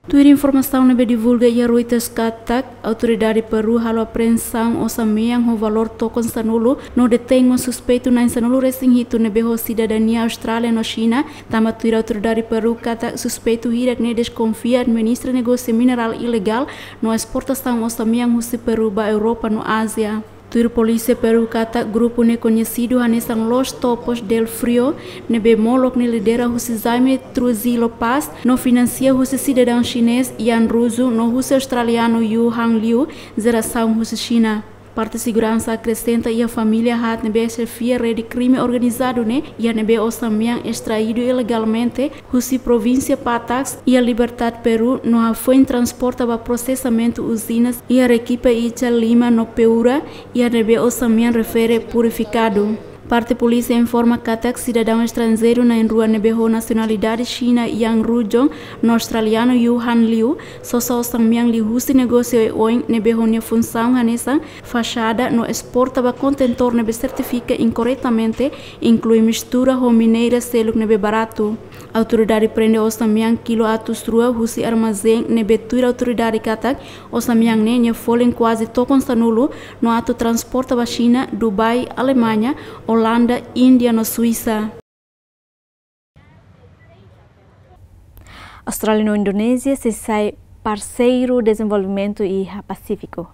Tuir informasaun ne'ebé divulga iha Reuters katak, Autoridade Peru halo apreensaun osan-mean ho valór tokon sanulu, no detein mós suspeitu na'in sanulu resin hitu ne'ebé ho sidadania Austrália no Xina, tanba tuir Autoridade Peru katak suspeitu hirak ne'e deskonfia administra negósiu minerál ilegál no esportasaun osan-mean husi Peru ba Europa no Ázia. Tuir polísia Peru katak grupu ne'e koñesidu hanesan Los Topos del Frío, ne'ebé molok ne'e lidera husi Jaime Trujillo Paz, no finansia husi sidadaun xinés Yan Ruzu, no husi australianu Yu Hang Liu, jerasaun husi Xina. Parte seguransa akresenta iha família haat ne'ebé xefia rede krime organizadu ne'e, iha ne'ebé osan-mean estraidu ilegalmente husi provínsia Pataks, iha Libertad, Peru, no hafoin transporta ba prosesamentu uzinas iha Arequipa, Icha, Lima no Piura, iha ne'ebé osan-mean refere purifikadu. Parte polísia informa katak sidadaun estranjeiru na'in-rua ne'ebé ho nasionalidade Xina Yang Rujong no australianu Yu Han Liu, sosa osan-mean liuhusi negósiu oioin ne'ebé ho nia funsaun hanesan faxada no esporta ba kontentór ne'ebé sertifika inkorretamente, inklui mistura ho mineira seluk ne'ebé baratu. Autoridade prende osan-mean kilu atus rua husi armazén ne'ebé tuir autoridade katak osan-mean ne'e nia folin kuaze tokon sanulu no atu transporta ba Xina, Dubai, Alemaña, Olanda, Índia no Suisa. Austrália no Indonézia sei sai parseiru dezenvolvimentu iha Pasífiku.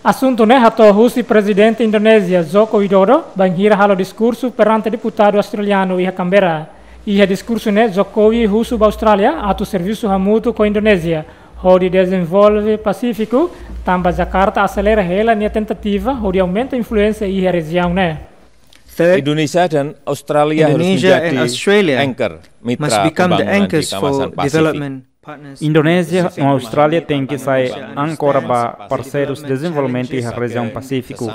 Asuntu ne'e hato'o husi Prezidente Indonézia, Joko Widodo, bainhira halo diskursu perante deputadu australianu iha Canberra. Iha diskursu ne'e, Jokowi husu ba Austrália atu servisu hamutuk ho Indonézia hodi dezenvolve Pasífiku, tanba Jakarta aselera hela nia tentativa hodi aumenta influénsia iha rejiaun ne'e. Third, Indonesia dan Australia harus Indonesia and menjadi Australia anchor mitra must become the pembangunan di anchors kawasan for Pasifik. Development partners. Indonézia no Austrália tenke sai ankora ba parseirus dezenvolvimentu iha rejiaun Pasífiku.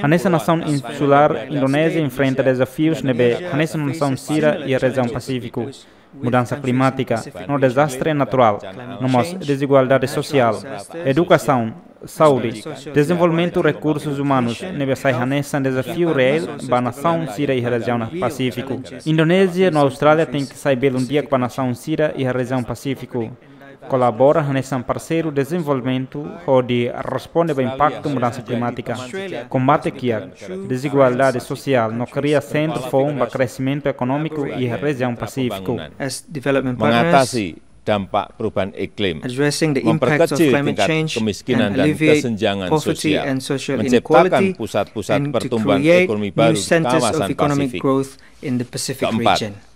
Hanesan nasaun insulár, Indonézia enfrenta dezafius ne'ebé hanesan nasaun sira iha rejiaun Pasífiku. Mudansa klimátika no dezastre naturál, no mós dezigualdade sosiál, edukasaun, saúde, dezenvolvimentu rekursus umanus ne'ebé sai hanesan dezafiu reál ba nasaun sira iha rejiaun Pasífiku. Indonézia no Austrália tenke sai belun di'ak ba nasaun sira iha rejiaun Pasífiku. Kolabora hanesan parseiru dezenvolvimentu hodi responde ba impaktu mudansa klimátika, kombate kiak dezigualdade sosiál no kria sentru foun ba kresimentu ekonómiku iha rejiaun Pasífiku. As development partners, mengatasi dampak perubahan iklim, addressing the impacts of memperkecil climate tingkat change kemiskinan and dan alleviate kesenjangan poverty sosial, and social menciptakan inequality, pusat-pusat and to pertumbuhan create ekonomi new baru di centers of kawasan economic Pasifik. Growth in the Pacific region. Keempat,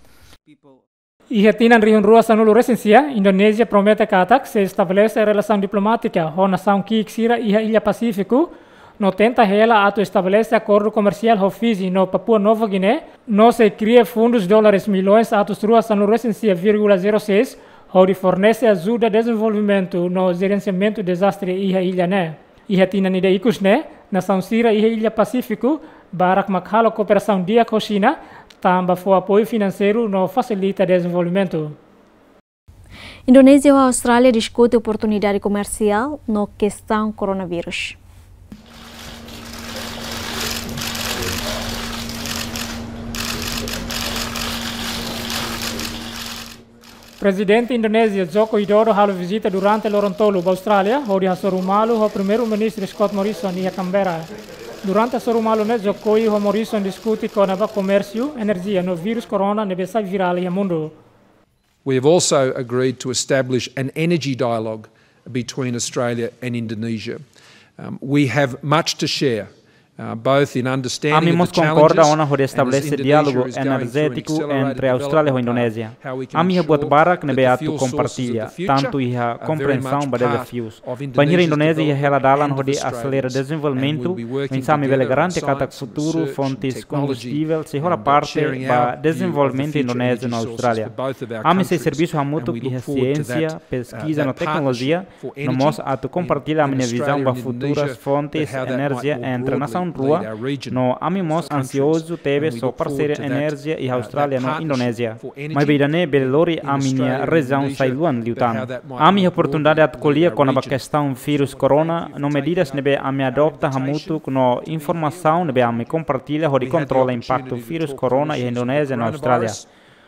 Iha tinan rihun rua sanulu resin sia, Indonézia promete katak sei estabelese relasaun diplomátika ho nasaun ki'ik sira iha illa Pasífiku, no tenta hela atu estabelese akordu komersiál ho Fiji no Papua Nova Guiné, no sei kria fundus dólares milhões atus rua sanulu resin sia vírgula zero seis, hodi fornese ajuda dezenvolvimentu no jerensiamentu dezastre iha illa ne'e. Iha tinan ida ikus ne'e, nasaun sira iha illa Pasífiku barak mak halo kooperasaun di'ak ho Xina, tanba fó apoiu finanseiru no fasilita dezenvolvimentu. Indonézia ho Austrália diskute oportunidade komersiál no kestaun koronavírus. Prezidente Indonézia, Joko Widodo, halo vizita durante loron tolu ba Austrália, hodi hasoru malu ho Primeiru-Ministru Scott Morrison iha Canberra. Durante hasoru malu ne'e, Jokowi ho Morrison diskute kona-ba komérsiu, enerjia no vírus corona ne'ebé sai virál iha mundu. We have also agreed to establish an energy dialogue between Australia and Indonesia. Um, we have much to share, uh, both in understanding of the challenges and as Indonesia is going through an accelerated development path, how we can ensure that our people can continue to thrive. Ami mós konkorda ona hodi estabelese diálogu enerjétiku entre Austrália ho Indonézia. Ami iha buat barak ne'ebé atu kompartilla, tantu iha komprensaun ba dezafius. Bainhira Indonézia iha hela dalan hodi aselera dezenvolvimentu, oinsá ami bele garante katak futuru fontes kombustivel sei hola parte ba dezenvolvimentu Indonézia no Austrália. Ami sei servisu hamutuk iha siénsia, peskiza no teknolojia, no mós atu kompartilla ami-nia vizaun ba futuras fontes enerjia entre nasaun rua, no ami mós ansiozu tebes ho parseria enerjia iha Austrália no Indonézia. Maibé ida-ne'e bele lori ami-nia rejiaun sai luan liután. Ami iha oportunidade atu ko'alia kona-ba kestaun vírus corona, no medidas ne'ebé ami adopta hamutuk no informasaun ne'ebé ami kompartilla hodi kontrola impaktu vírus corona iha Indonézia no Austrália.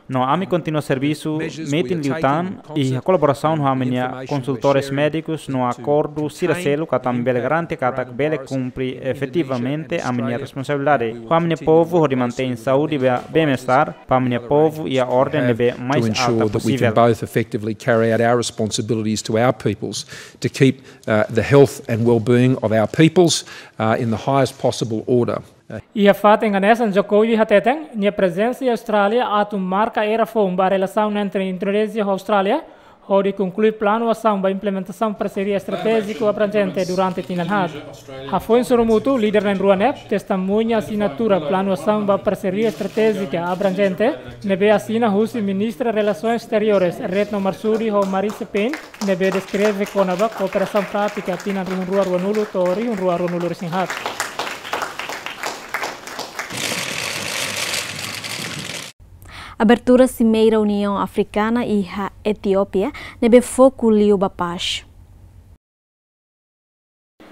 No ami kontinua servisu metin liután iha kolaborasaun ho ami-nia konsultores médikus no akordu sira seluk atu ami bele garante katak bele kumpre efetivamente ami-nia responsabilidade ho ami-nia povu hodi mantein saúde be-, bem-estar ba ami-nia povu iha orden ne'ebé mais alta posivel. Both effectively carry out our responsibilities to our peoples to keep, uh, the health and well-being of our peoples, uh, in the highest possible order. Iha fatin hanesan, Jokowi hateten nia prezensa iha Austrália atu marka era foun ba relasaun entre Indonézia ho Austrália, hodi konklui planu asaun ba implementasaun parseria estratéjiku abranjente durante tinan haat. Hafoin sorumutu, líder na'in-rua ne'e testemuña asinatura planu asaun ba parseria estratéjika abranjente ne'ebé asina husi Ministra Relações Exteriores, Retno Marsudi, ho Marise Payne, ne'ebé deskreve kona-ba kooperasaun prátika tinan rihun rua ruanulu to'o rihun rua ruanulu resin haat. Abertura Simeira Uniaun Afrikana iha Etiópia, ne'ebé foku liu ba pás.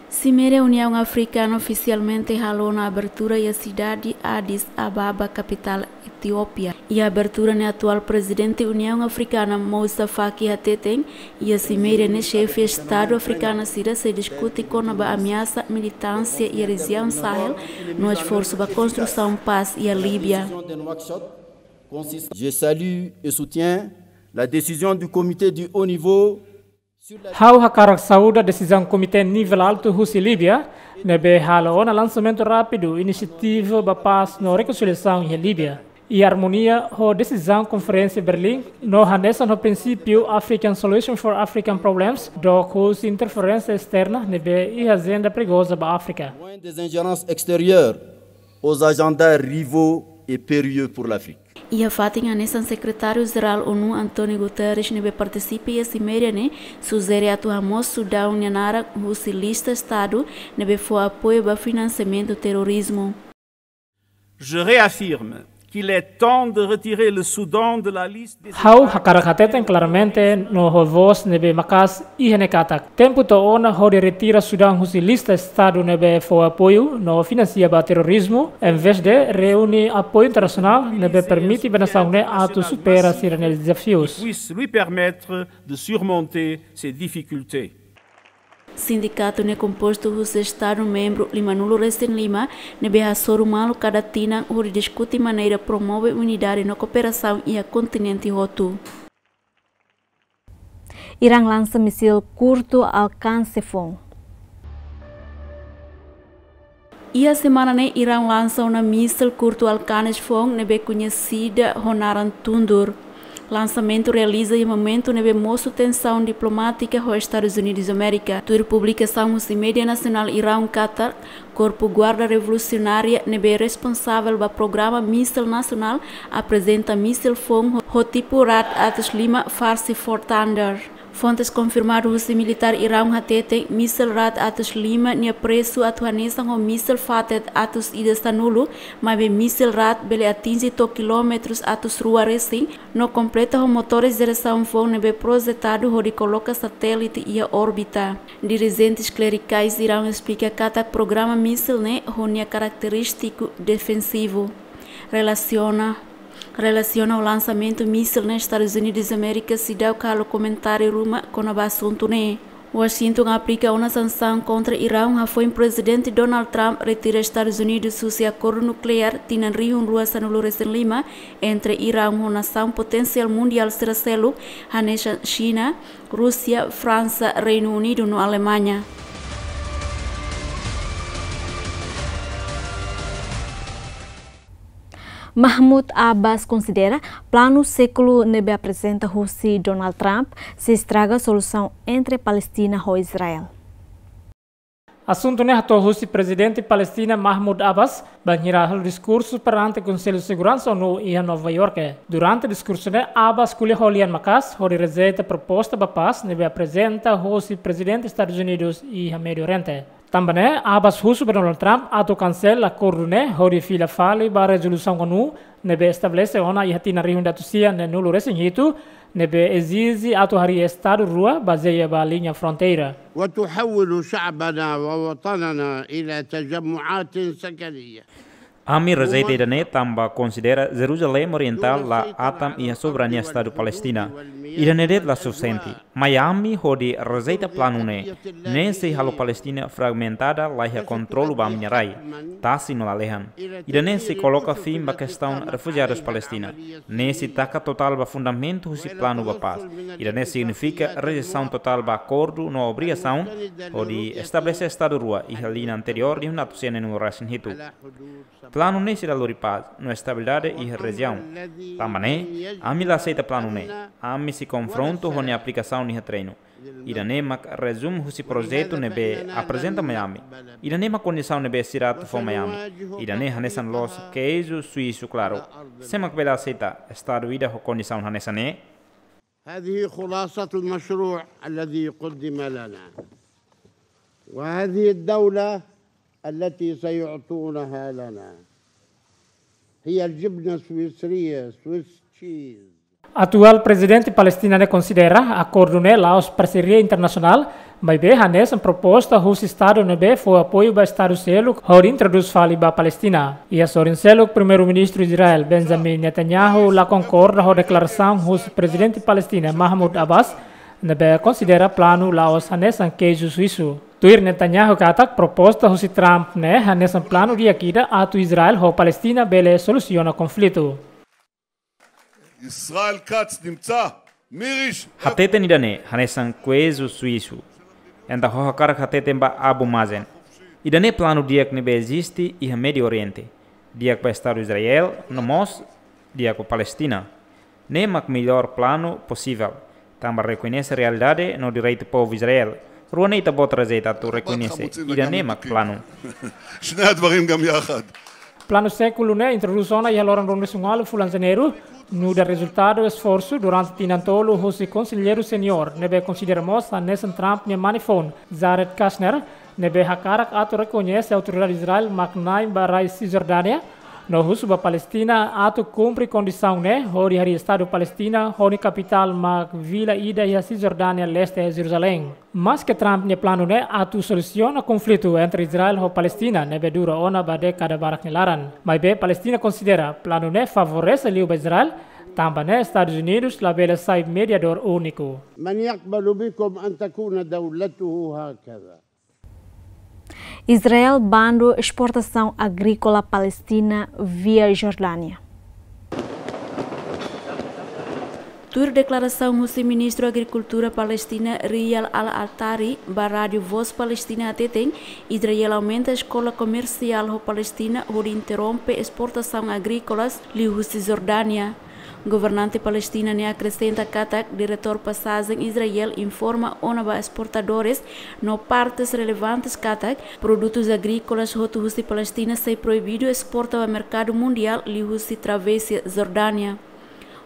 Simeira Uniaun Afrikana ofisialmente halo ona abertura iha sidade Addis Ababa, kapitál Etiópia. Iha abertura ne'e atuál Prezidente Uniaun Afrikana Moussa Faki hateten, iha simeira ne'e xefe Estadu afrikanu sira sei diskute kona-ba ameasa militánsia iha rejiaun Sahel, no esforsu ba konstrusaun pás iha Líbia. Je salue et soutiens la décision du comité du haut niveau. Ha'u hakarak saúda desizaun Komité Nivel Altu husi Líbia, ne'ebé halo ona lansamentu rápidu inisiativa ba pás no rekonsiliasaun iha Líbia, iha armonia ho desizaun Konferénsia Berlim, no hanesan ho prinsípiu African Solution for African Problems, dook husi interferénsia esterna ne'ebé iha ajenda perigoza ba Áfrika. Loin des ingérences extérieures aux agendas rivaux et périlleux pour l'Afrique. Iha fatin hanesan, Sekretáriu Jerál ONU António Guterres ne'ebé partisipa iha simeira ne'e sujere atu hamoos Sudaun nia naran husi lista Estadu ne'ebé fó apoiu ba finansiamentu terrorizmu. Je réaffirme qu'il est temps de retirer le Soudan de la liste des Ha'u hakarak hateten klaramente no ho vós ne'ebé maka'as iha ne'e katak tempu to'o ona hodi retira Sudaun husi lista Estadu ne'ebé fó apoiu no finansia ba terrorizmu, envezde reúne apoiu internasionál ne'ebé permite ba nasaun ne'e atu supera sira-nia dezafius. Puisse lui permettre de surmonter ses difficultés. Sindikatu ne'e kompostu husi Estadu membru limanulu-resin-lima, ne'ebé hasoru malu kada tinan hodi diskute maneira promove unidade no kooperasaun iha kontinente hotu. Irán lansa misil kurtu alkanse foun. Iha semana ne'e Irán lansa ona misil kurtu alkanse foun ne'ebé koñesida ho naran Tundur. Lansamentu realiza iha momentu ne'ebé mosu tensaun diplomátika ho Estadus Unidus Amérika. Tuir publikasaun husi média nasionál Irán katak, Korpu Guarda Revolusionária ne'ebé responsavel ba programa misil nasionál aprezenta misil foun ho, ho tipu Ra'ad atus lima Farsi Four Thunder. Fontes konfirmadu husi militár Irán hateten, misil Ra'ad atus lima nia presu atu hanesan ho misil Fated atus ida sanulu, maibé misil Ra'ad bele atinje to'o kilómetrus atus rua resin, no kompleta ho motores jerasaun foun ne'ebé projetadu hodi koloka satélite iha órbita. Dirijentes klerikais Irán esplika katak programa misil ne'e ho nia karakterístiku defensivu. Relasiona, relasiona ho lansamentu misil ne'e, Estadus Unidus Amérika seidauk halo komentáriu ruma kona-ba asuntu ne'e. Washington aplika ona sansaun kontra Irán hafoin Prezidente Donald Trump retira Estadus Unidus husi akordu nukleár tinan rihun rua sanulu-resin-lima entre Irán ho nasaun potensiál mundiál sira seluk, hanesan Xina, Rúsia, Fransa, Reinu Unidu no Alemaña. Mahmoud Abbas konsidera planu sékulu ne'ebé aprezenta husi Donald Trump sei estraga solusaun entre Palestina ho Israel. Asuntu ne'e hato'o husi Prezidente Palestina Mahmoud Abbas, bainhira halo diskursu perante Konsellu Seguransa ONU iha Nova York. Durante diskursu ne'e, Abbas ko'alia ho lian maka'as hodi rejeita proposta ba pás ne'ebé aprezenta husi Prezidente Estadus Unidus iha Médiu Oriente. Tanba ne'e, Abbas husu ba Donald Trump atu kansela akordu ne'e hodi fila fali ba rezolusaun ONU ne'ebé estabelese ona iha tinan rihun ida atus sia neenulu-resin-hitu, ne'ebé ezije atu harii Estadu rua bazeia ba liña fronteira. وتحول شعبنا ووطننا إلى تجمعات سكنية. Ami rejeita ida-ne'e tanba konsidera Jerusalém Orientál la atan iha soberania Estadu Palestina. Ida-ne'e de'it la sufisiente. Mai ami hodi rejeita planu ne'e. Ne'e sei halo Palestina fragmentada, laiha kontrolu ba ami-nia rai, tasi no lalehan. Ida-ne'e sei koloka fin ba kestaun refujiadus Palestina. Ne'e sei taka totál ba fundamentu husi planu ba pás. Ida-ne'e signifika rejeisaun totál ba akordu no obrigasaun hodi estabelese Estadu rua iha liña anteriór rihun atus sia neenulu-resin-hitu. Planu ne'e sei la lori pás no estabilidade iha rejiaun. Tanba ne'e, ami la aseita planu ne'e. Ami sei konfrontu ho nia aplikasaun iha terrenu. Ida-ne'e mak rezumu husi projetu ne'ebé aprezenta mai ami. Ida-ne'e mak kondisaun ne'ebé sira atu fó mai ami. Ida-ne'e hanesan loos keiju suísu klaru. Sé mak bele aseita Estadu ida ho kondisaun hanesan ne'e? هذه خلاصة المشروع الذي قدم لنا. وهذه الدولة التي سيعطونها لنا. هي الجبنة السويسرية، Swiss cheese. Atuál prezidente Palestina ne'e konsidera akordu ne'e la'ós parseria internasionál, maibé hanesan proposta husi estadu ne'ebé fó apoiu ba estadu seluk hodi introdús fali ba Palestina. Iha sorin seluk, Primeiru-Ministru Israel Benjamin Netanyahu la konkorda ho deklarasaun husi prezidente Palestina Mahmoud Abbas, ne'ebé konsidera planu la'ós hanesan keiju suisu. Tuir Netanyahu katak proposta husi Trump ne'e hanesan planu di'ak ida atu Israel ho Palestina bele solusiona konflitu. ישראל כץ נמצא, מי ראשון? Hateten ida-ne'e hanesan keiju suisu. Entaun ha'u hakarak hateten ba Abu Mazen. Ida-ne'e planu di'ak ne'ebé eziste iha Médiu Oriente. Di'ak ba Estadu Israel, no mós di'ak ba Palestina. Ne'e mak mellór planu posivel. Tanba rekoñese realidade no direitu povu Israel. Rua ne'e ita-boot rejeita atu rekoñese. Ida-ne'e mak planu. שני הדברים גם יחד. Planu sékulu ne'e introdús ona iha loron ruanulu-resin-ualu fulan Janeiru, nu'udar rezultadu esforsu durante tinan tolu husi konselleiru seniór, ne'ebé konsidera mós hanesan Trump nia mane-foun, Jared Kushner, ne'ebé hakarak atu rekoñese autoridade Israel mak na'in ba rai Sisjordánia, no husu ba Palestina atu kumpre kondisaun ne'e hodi harii Estadu Palestina ho nia kapitál mak vila ida iha Sisjordánia Leste, Jeruzalén. Maske Trump nia planu ne'e atu solusiona konflitu entre Israel ho Palestina ne'ebé dura ona ba dékada barak nia laran, maibé Palestina konsidera planu ne'e favorese liu ba Israel, tanba ne'e Estadus Unidus labele sai mediadór úniku. من يقبل بكم أن تكون دولته هكذا؟ Israel bandu esportasaun agríkola Palestina via Jordánia. Tuir deklarasaun husi Ministru Agrikultura Palestina Riyad Al-Attari ba Rádiu Voz Palestina hateten, Israel aumenta eskola komersiál ho Palestina hodi interrompe esportasaun agríkolas liu husi Jordánia. Governante Palestina ne'e akresenta katak diretór pasajen Israel informa ona ba esportadores no partes relevantes katak produtus agríkolas hotu husi Palestina sei proibidu esporta ba merkadu mundiál liu husi travésia Jordánia.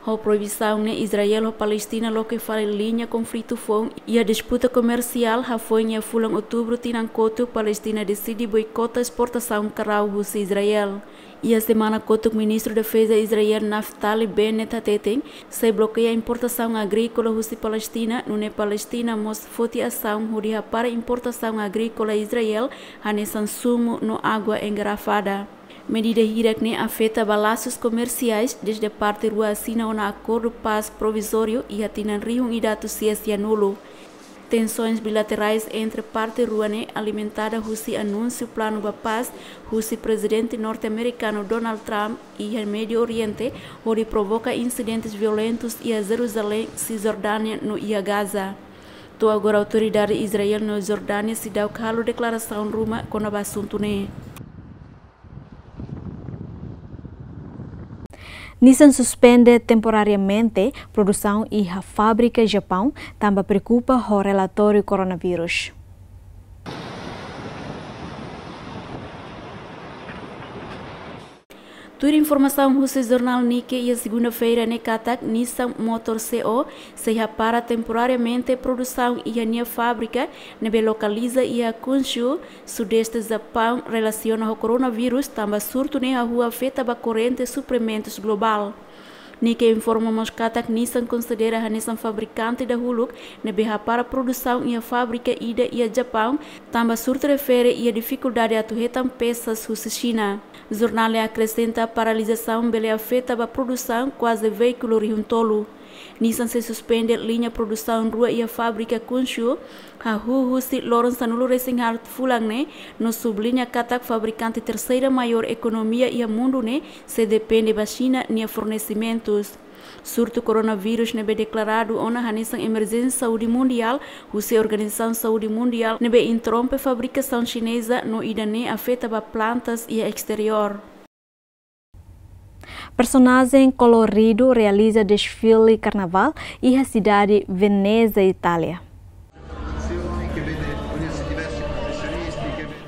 Ho proibisaun ne'e Israel ho Palestina loke fali liña konflitu foun iha disputa komersiál hafoin iha fulan Outubru tinan kotuk Palestina deside boikota esportasaun karau husi Israel. Iha semana kotuk Ministru Defeza Israel Naftali Bennett hateten, sei blokeia importasaun agríkola husi Palestina, nune'e Palestina mós foti asaun hodi hapara importasaun agríkola Israel, hanesan sumu no água engarrafada. Medida hirak-ne'e afeta ba lasus komersiais dezde parte rua asina ona akordu pás provizóriu iha tinan rihun ida atus sia sianulu. Tensoens bilaterais entre parte rua ne'e alimentada husi anúnsiu planu ba pás husi Prezidente norte-amerikanu Donald Trump iha Médiu Oriente, hodi provoka insidentes violentus iha Jeruzalén, Sisjordánia no iha Gaza. To'o agora autoridade Israel no Jordánia seidauk halo deklarasaun ruma kona-ba asuntu ne'e. Nissan suspende temporariamente produsaun iha fábrika Japaun, tanba preokupa ho relatóriu koronavírus. Tuir informasaun husi jornál Nikkei iha segunda-feira ne'e katak Nissan Motor C O sei hapara temporariamente produsaun iha nia fábrika ne'ebé lokaliza iha Kunshu, Sudeste Japaun, relasiona ho koronavírus, tanba surtu ne'e hahú afeta ba korrente suprimentus globál. Nikkei informa mós katak Nissan konsidera hanesan fabrikante dahuluk ne'ebé hapara produsaun iha fábrika ida iha Japaun, tanba surtu refere iha difikuldade atu hetan pesas husi Xina. Jornál ne'e akresenta paralizasaun bele afeta ba produsaun kuaze veíkulu rihun tolu. Nissan sei suspende liña produsaun rua iha fábrika Kunshu, hahú husi loron sanulu-resin-haat fulan ne'e, no subliña katak fabrikante terseira maiór ekonomia iha mundu ne'e sei depende ba Xina nia fornesimentus. Surtu koronavírus ne'ebé deklaradu ona hanesan emerjénsia saúde mundiál husi Organizasaun Saúde Mundiál ne'ebé interrompe fabrikasaun xineza no ida-ne'e afeta ba plantas iha esteriór. Personajen koloridu realiza desfile karnavál iha sidade Veneza, Itália.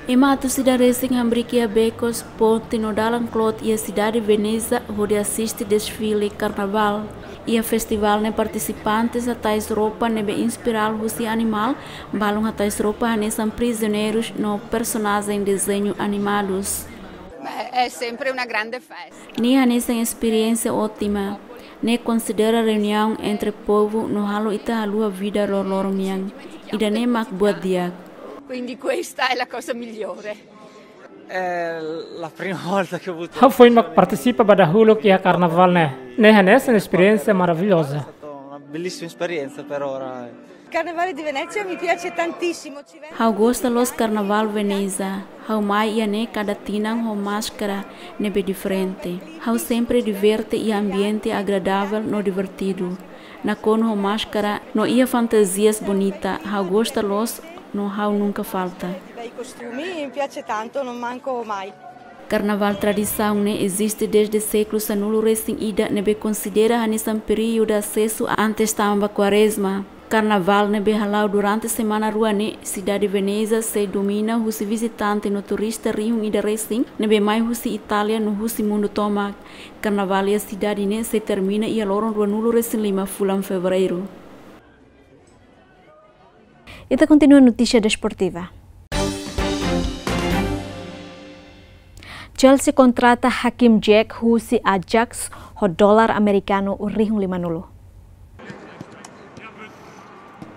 Ema atus ida resin hamriik iha bekos, ponte no dalan kloot iha sidade Veneza hodi asiste desfile karnavál. Iha festivál ne'e partisipantes hatais roupa ne'ebé inspiradu husi animál, balun hatais roupa hanesan prizioneirus no personajen dezeñu animadus. É sempre uma grande festa. Ne'e hanesan esperiénsia ótima. Ne'e konsidera reuniaun entre povu no halo ita haluha vida loroloron nian. Ida-ne'e mak buat di'ak. Quindi questa è la cosa migliore. È la prima volta che ho avuto... Ha'u foin mak partisipa ba dahuluk iha karnavál ne'e. Ne'e hanesan esperiénsia maravilhoza. È stata una bellissima esperienza per ora. Carnevale di Venezia mi piace tantissimo. Ha'u gosta loos Karnavál Veneza. Ha'u mai iha ne'e kada tinan ho máskara ne'ebé diferente. Ha'u sempre diverte iha ambiente agradável no divertidu. Nakonu ho máskara no iha fantazias bonita. Ha'u gosta loos no ha'u nunka falta. Bei costumi, mi piace tanto, non manco mai. Karnavál tradisaun ne'e eziste dezde sékulu sanulu-resin-ida ne'ebé konsidera hanesan períodu asesu antes tama ba Kuarezma. Karnavál ne'ebé hala'o durante semana rua ne'e, sidade Veneza sei domina husi vizitante no turista rihun ida resin ne'ebé mai husi Itália no husi mundu tomak. Karnavál iha sidade ne'e sei termina iha loron ruanulu-resin-lima fulan Fevereiru. Ita kontinua notísia desportiva. Chelsea kontrata Hakim Ziyech husi Ajax ho dolar amerikanu rihun limanulu.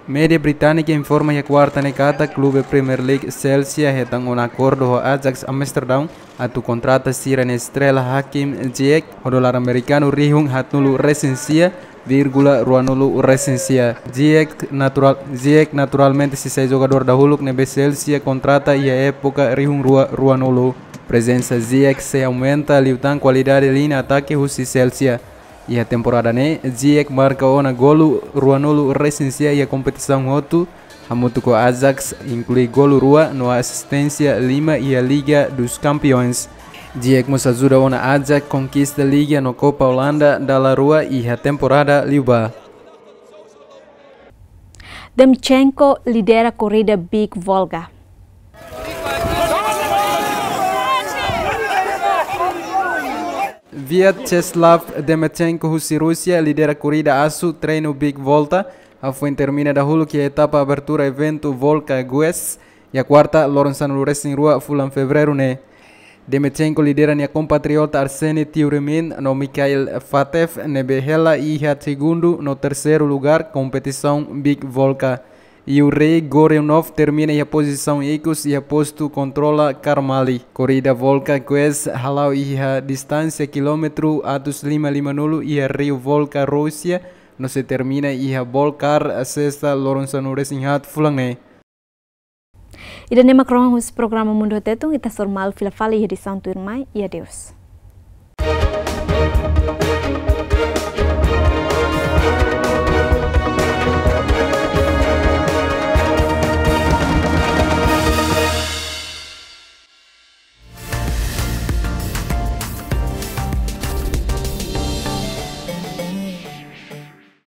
Média británika informa iha kuarta ne'e katak klube Premier League Chelsea hetan ona akordu ho Ajax Amsterdam atu kontrata sira-nia estrela Hakim Ziyech ho dolar amerikanu rihun haatnulu-resin-sia vírgula ruanulu-resin-sia. Ziyech natural, Ziyech naturalmente sei sai jogadór dahuluk ne'ebé Chelsea kontrata iha époka rihun rua ruanulu. Prezensa Ziyech sei aumenta liután kualidade liña atake husi Chelsea. Iha temporada ne'e, Ziyech marka ona golu ruanulu-resin-sia iha kompetisaun hotu, hamutuk ho Ajax, inklui golu rua no asisténsia lima iha Liga dos Campeões. Ziyech mós ajuda ona Ajax konkista Liga no Copa Holanda dala rua iha temporada liubá. Demchenko lidera korrida Big Volga. Vyacheslav Demchenko husi Rúsia lidera korrida asu treinu Big Volta, hafoin termina dahuluk iha etapa abertura eventu Volga Quest, iha kuarta, loron sanulu-resin-rua fulan Fevereiru ne'e. Demchenko lidera nia kompatriota Arseny Tieurmin no Mikhail Fatev ne'ebé hela iha segundu no terseiru lugár kompetisaun Big Volga. Yuri Goriunov termina iha pozisaun ikus iha postu kontrola Karmali. Korrida Volga Quest hala'o iha distánsia kilómetru atus lima limanulu iha riu Volga, Rúsia, no sei termina iha Bolgar, sesta, loron sanulu-resin-haat fulan ne'e. Ida-ne'e mak rohan husi programa Mundu ho Tetun, ita hasoru malu fila fali iha edisaun tuirmai, i adeus.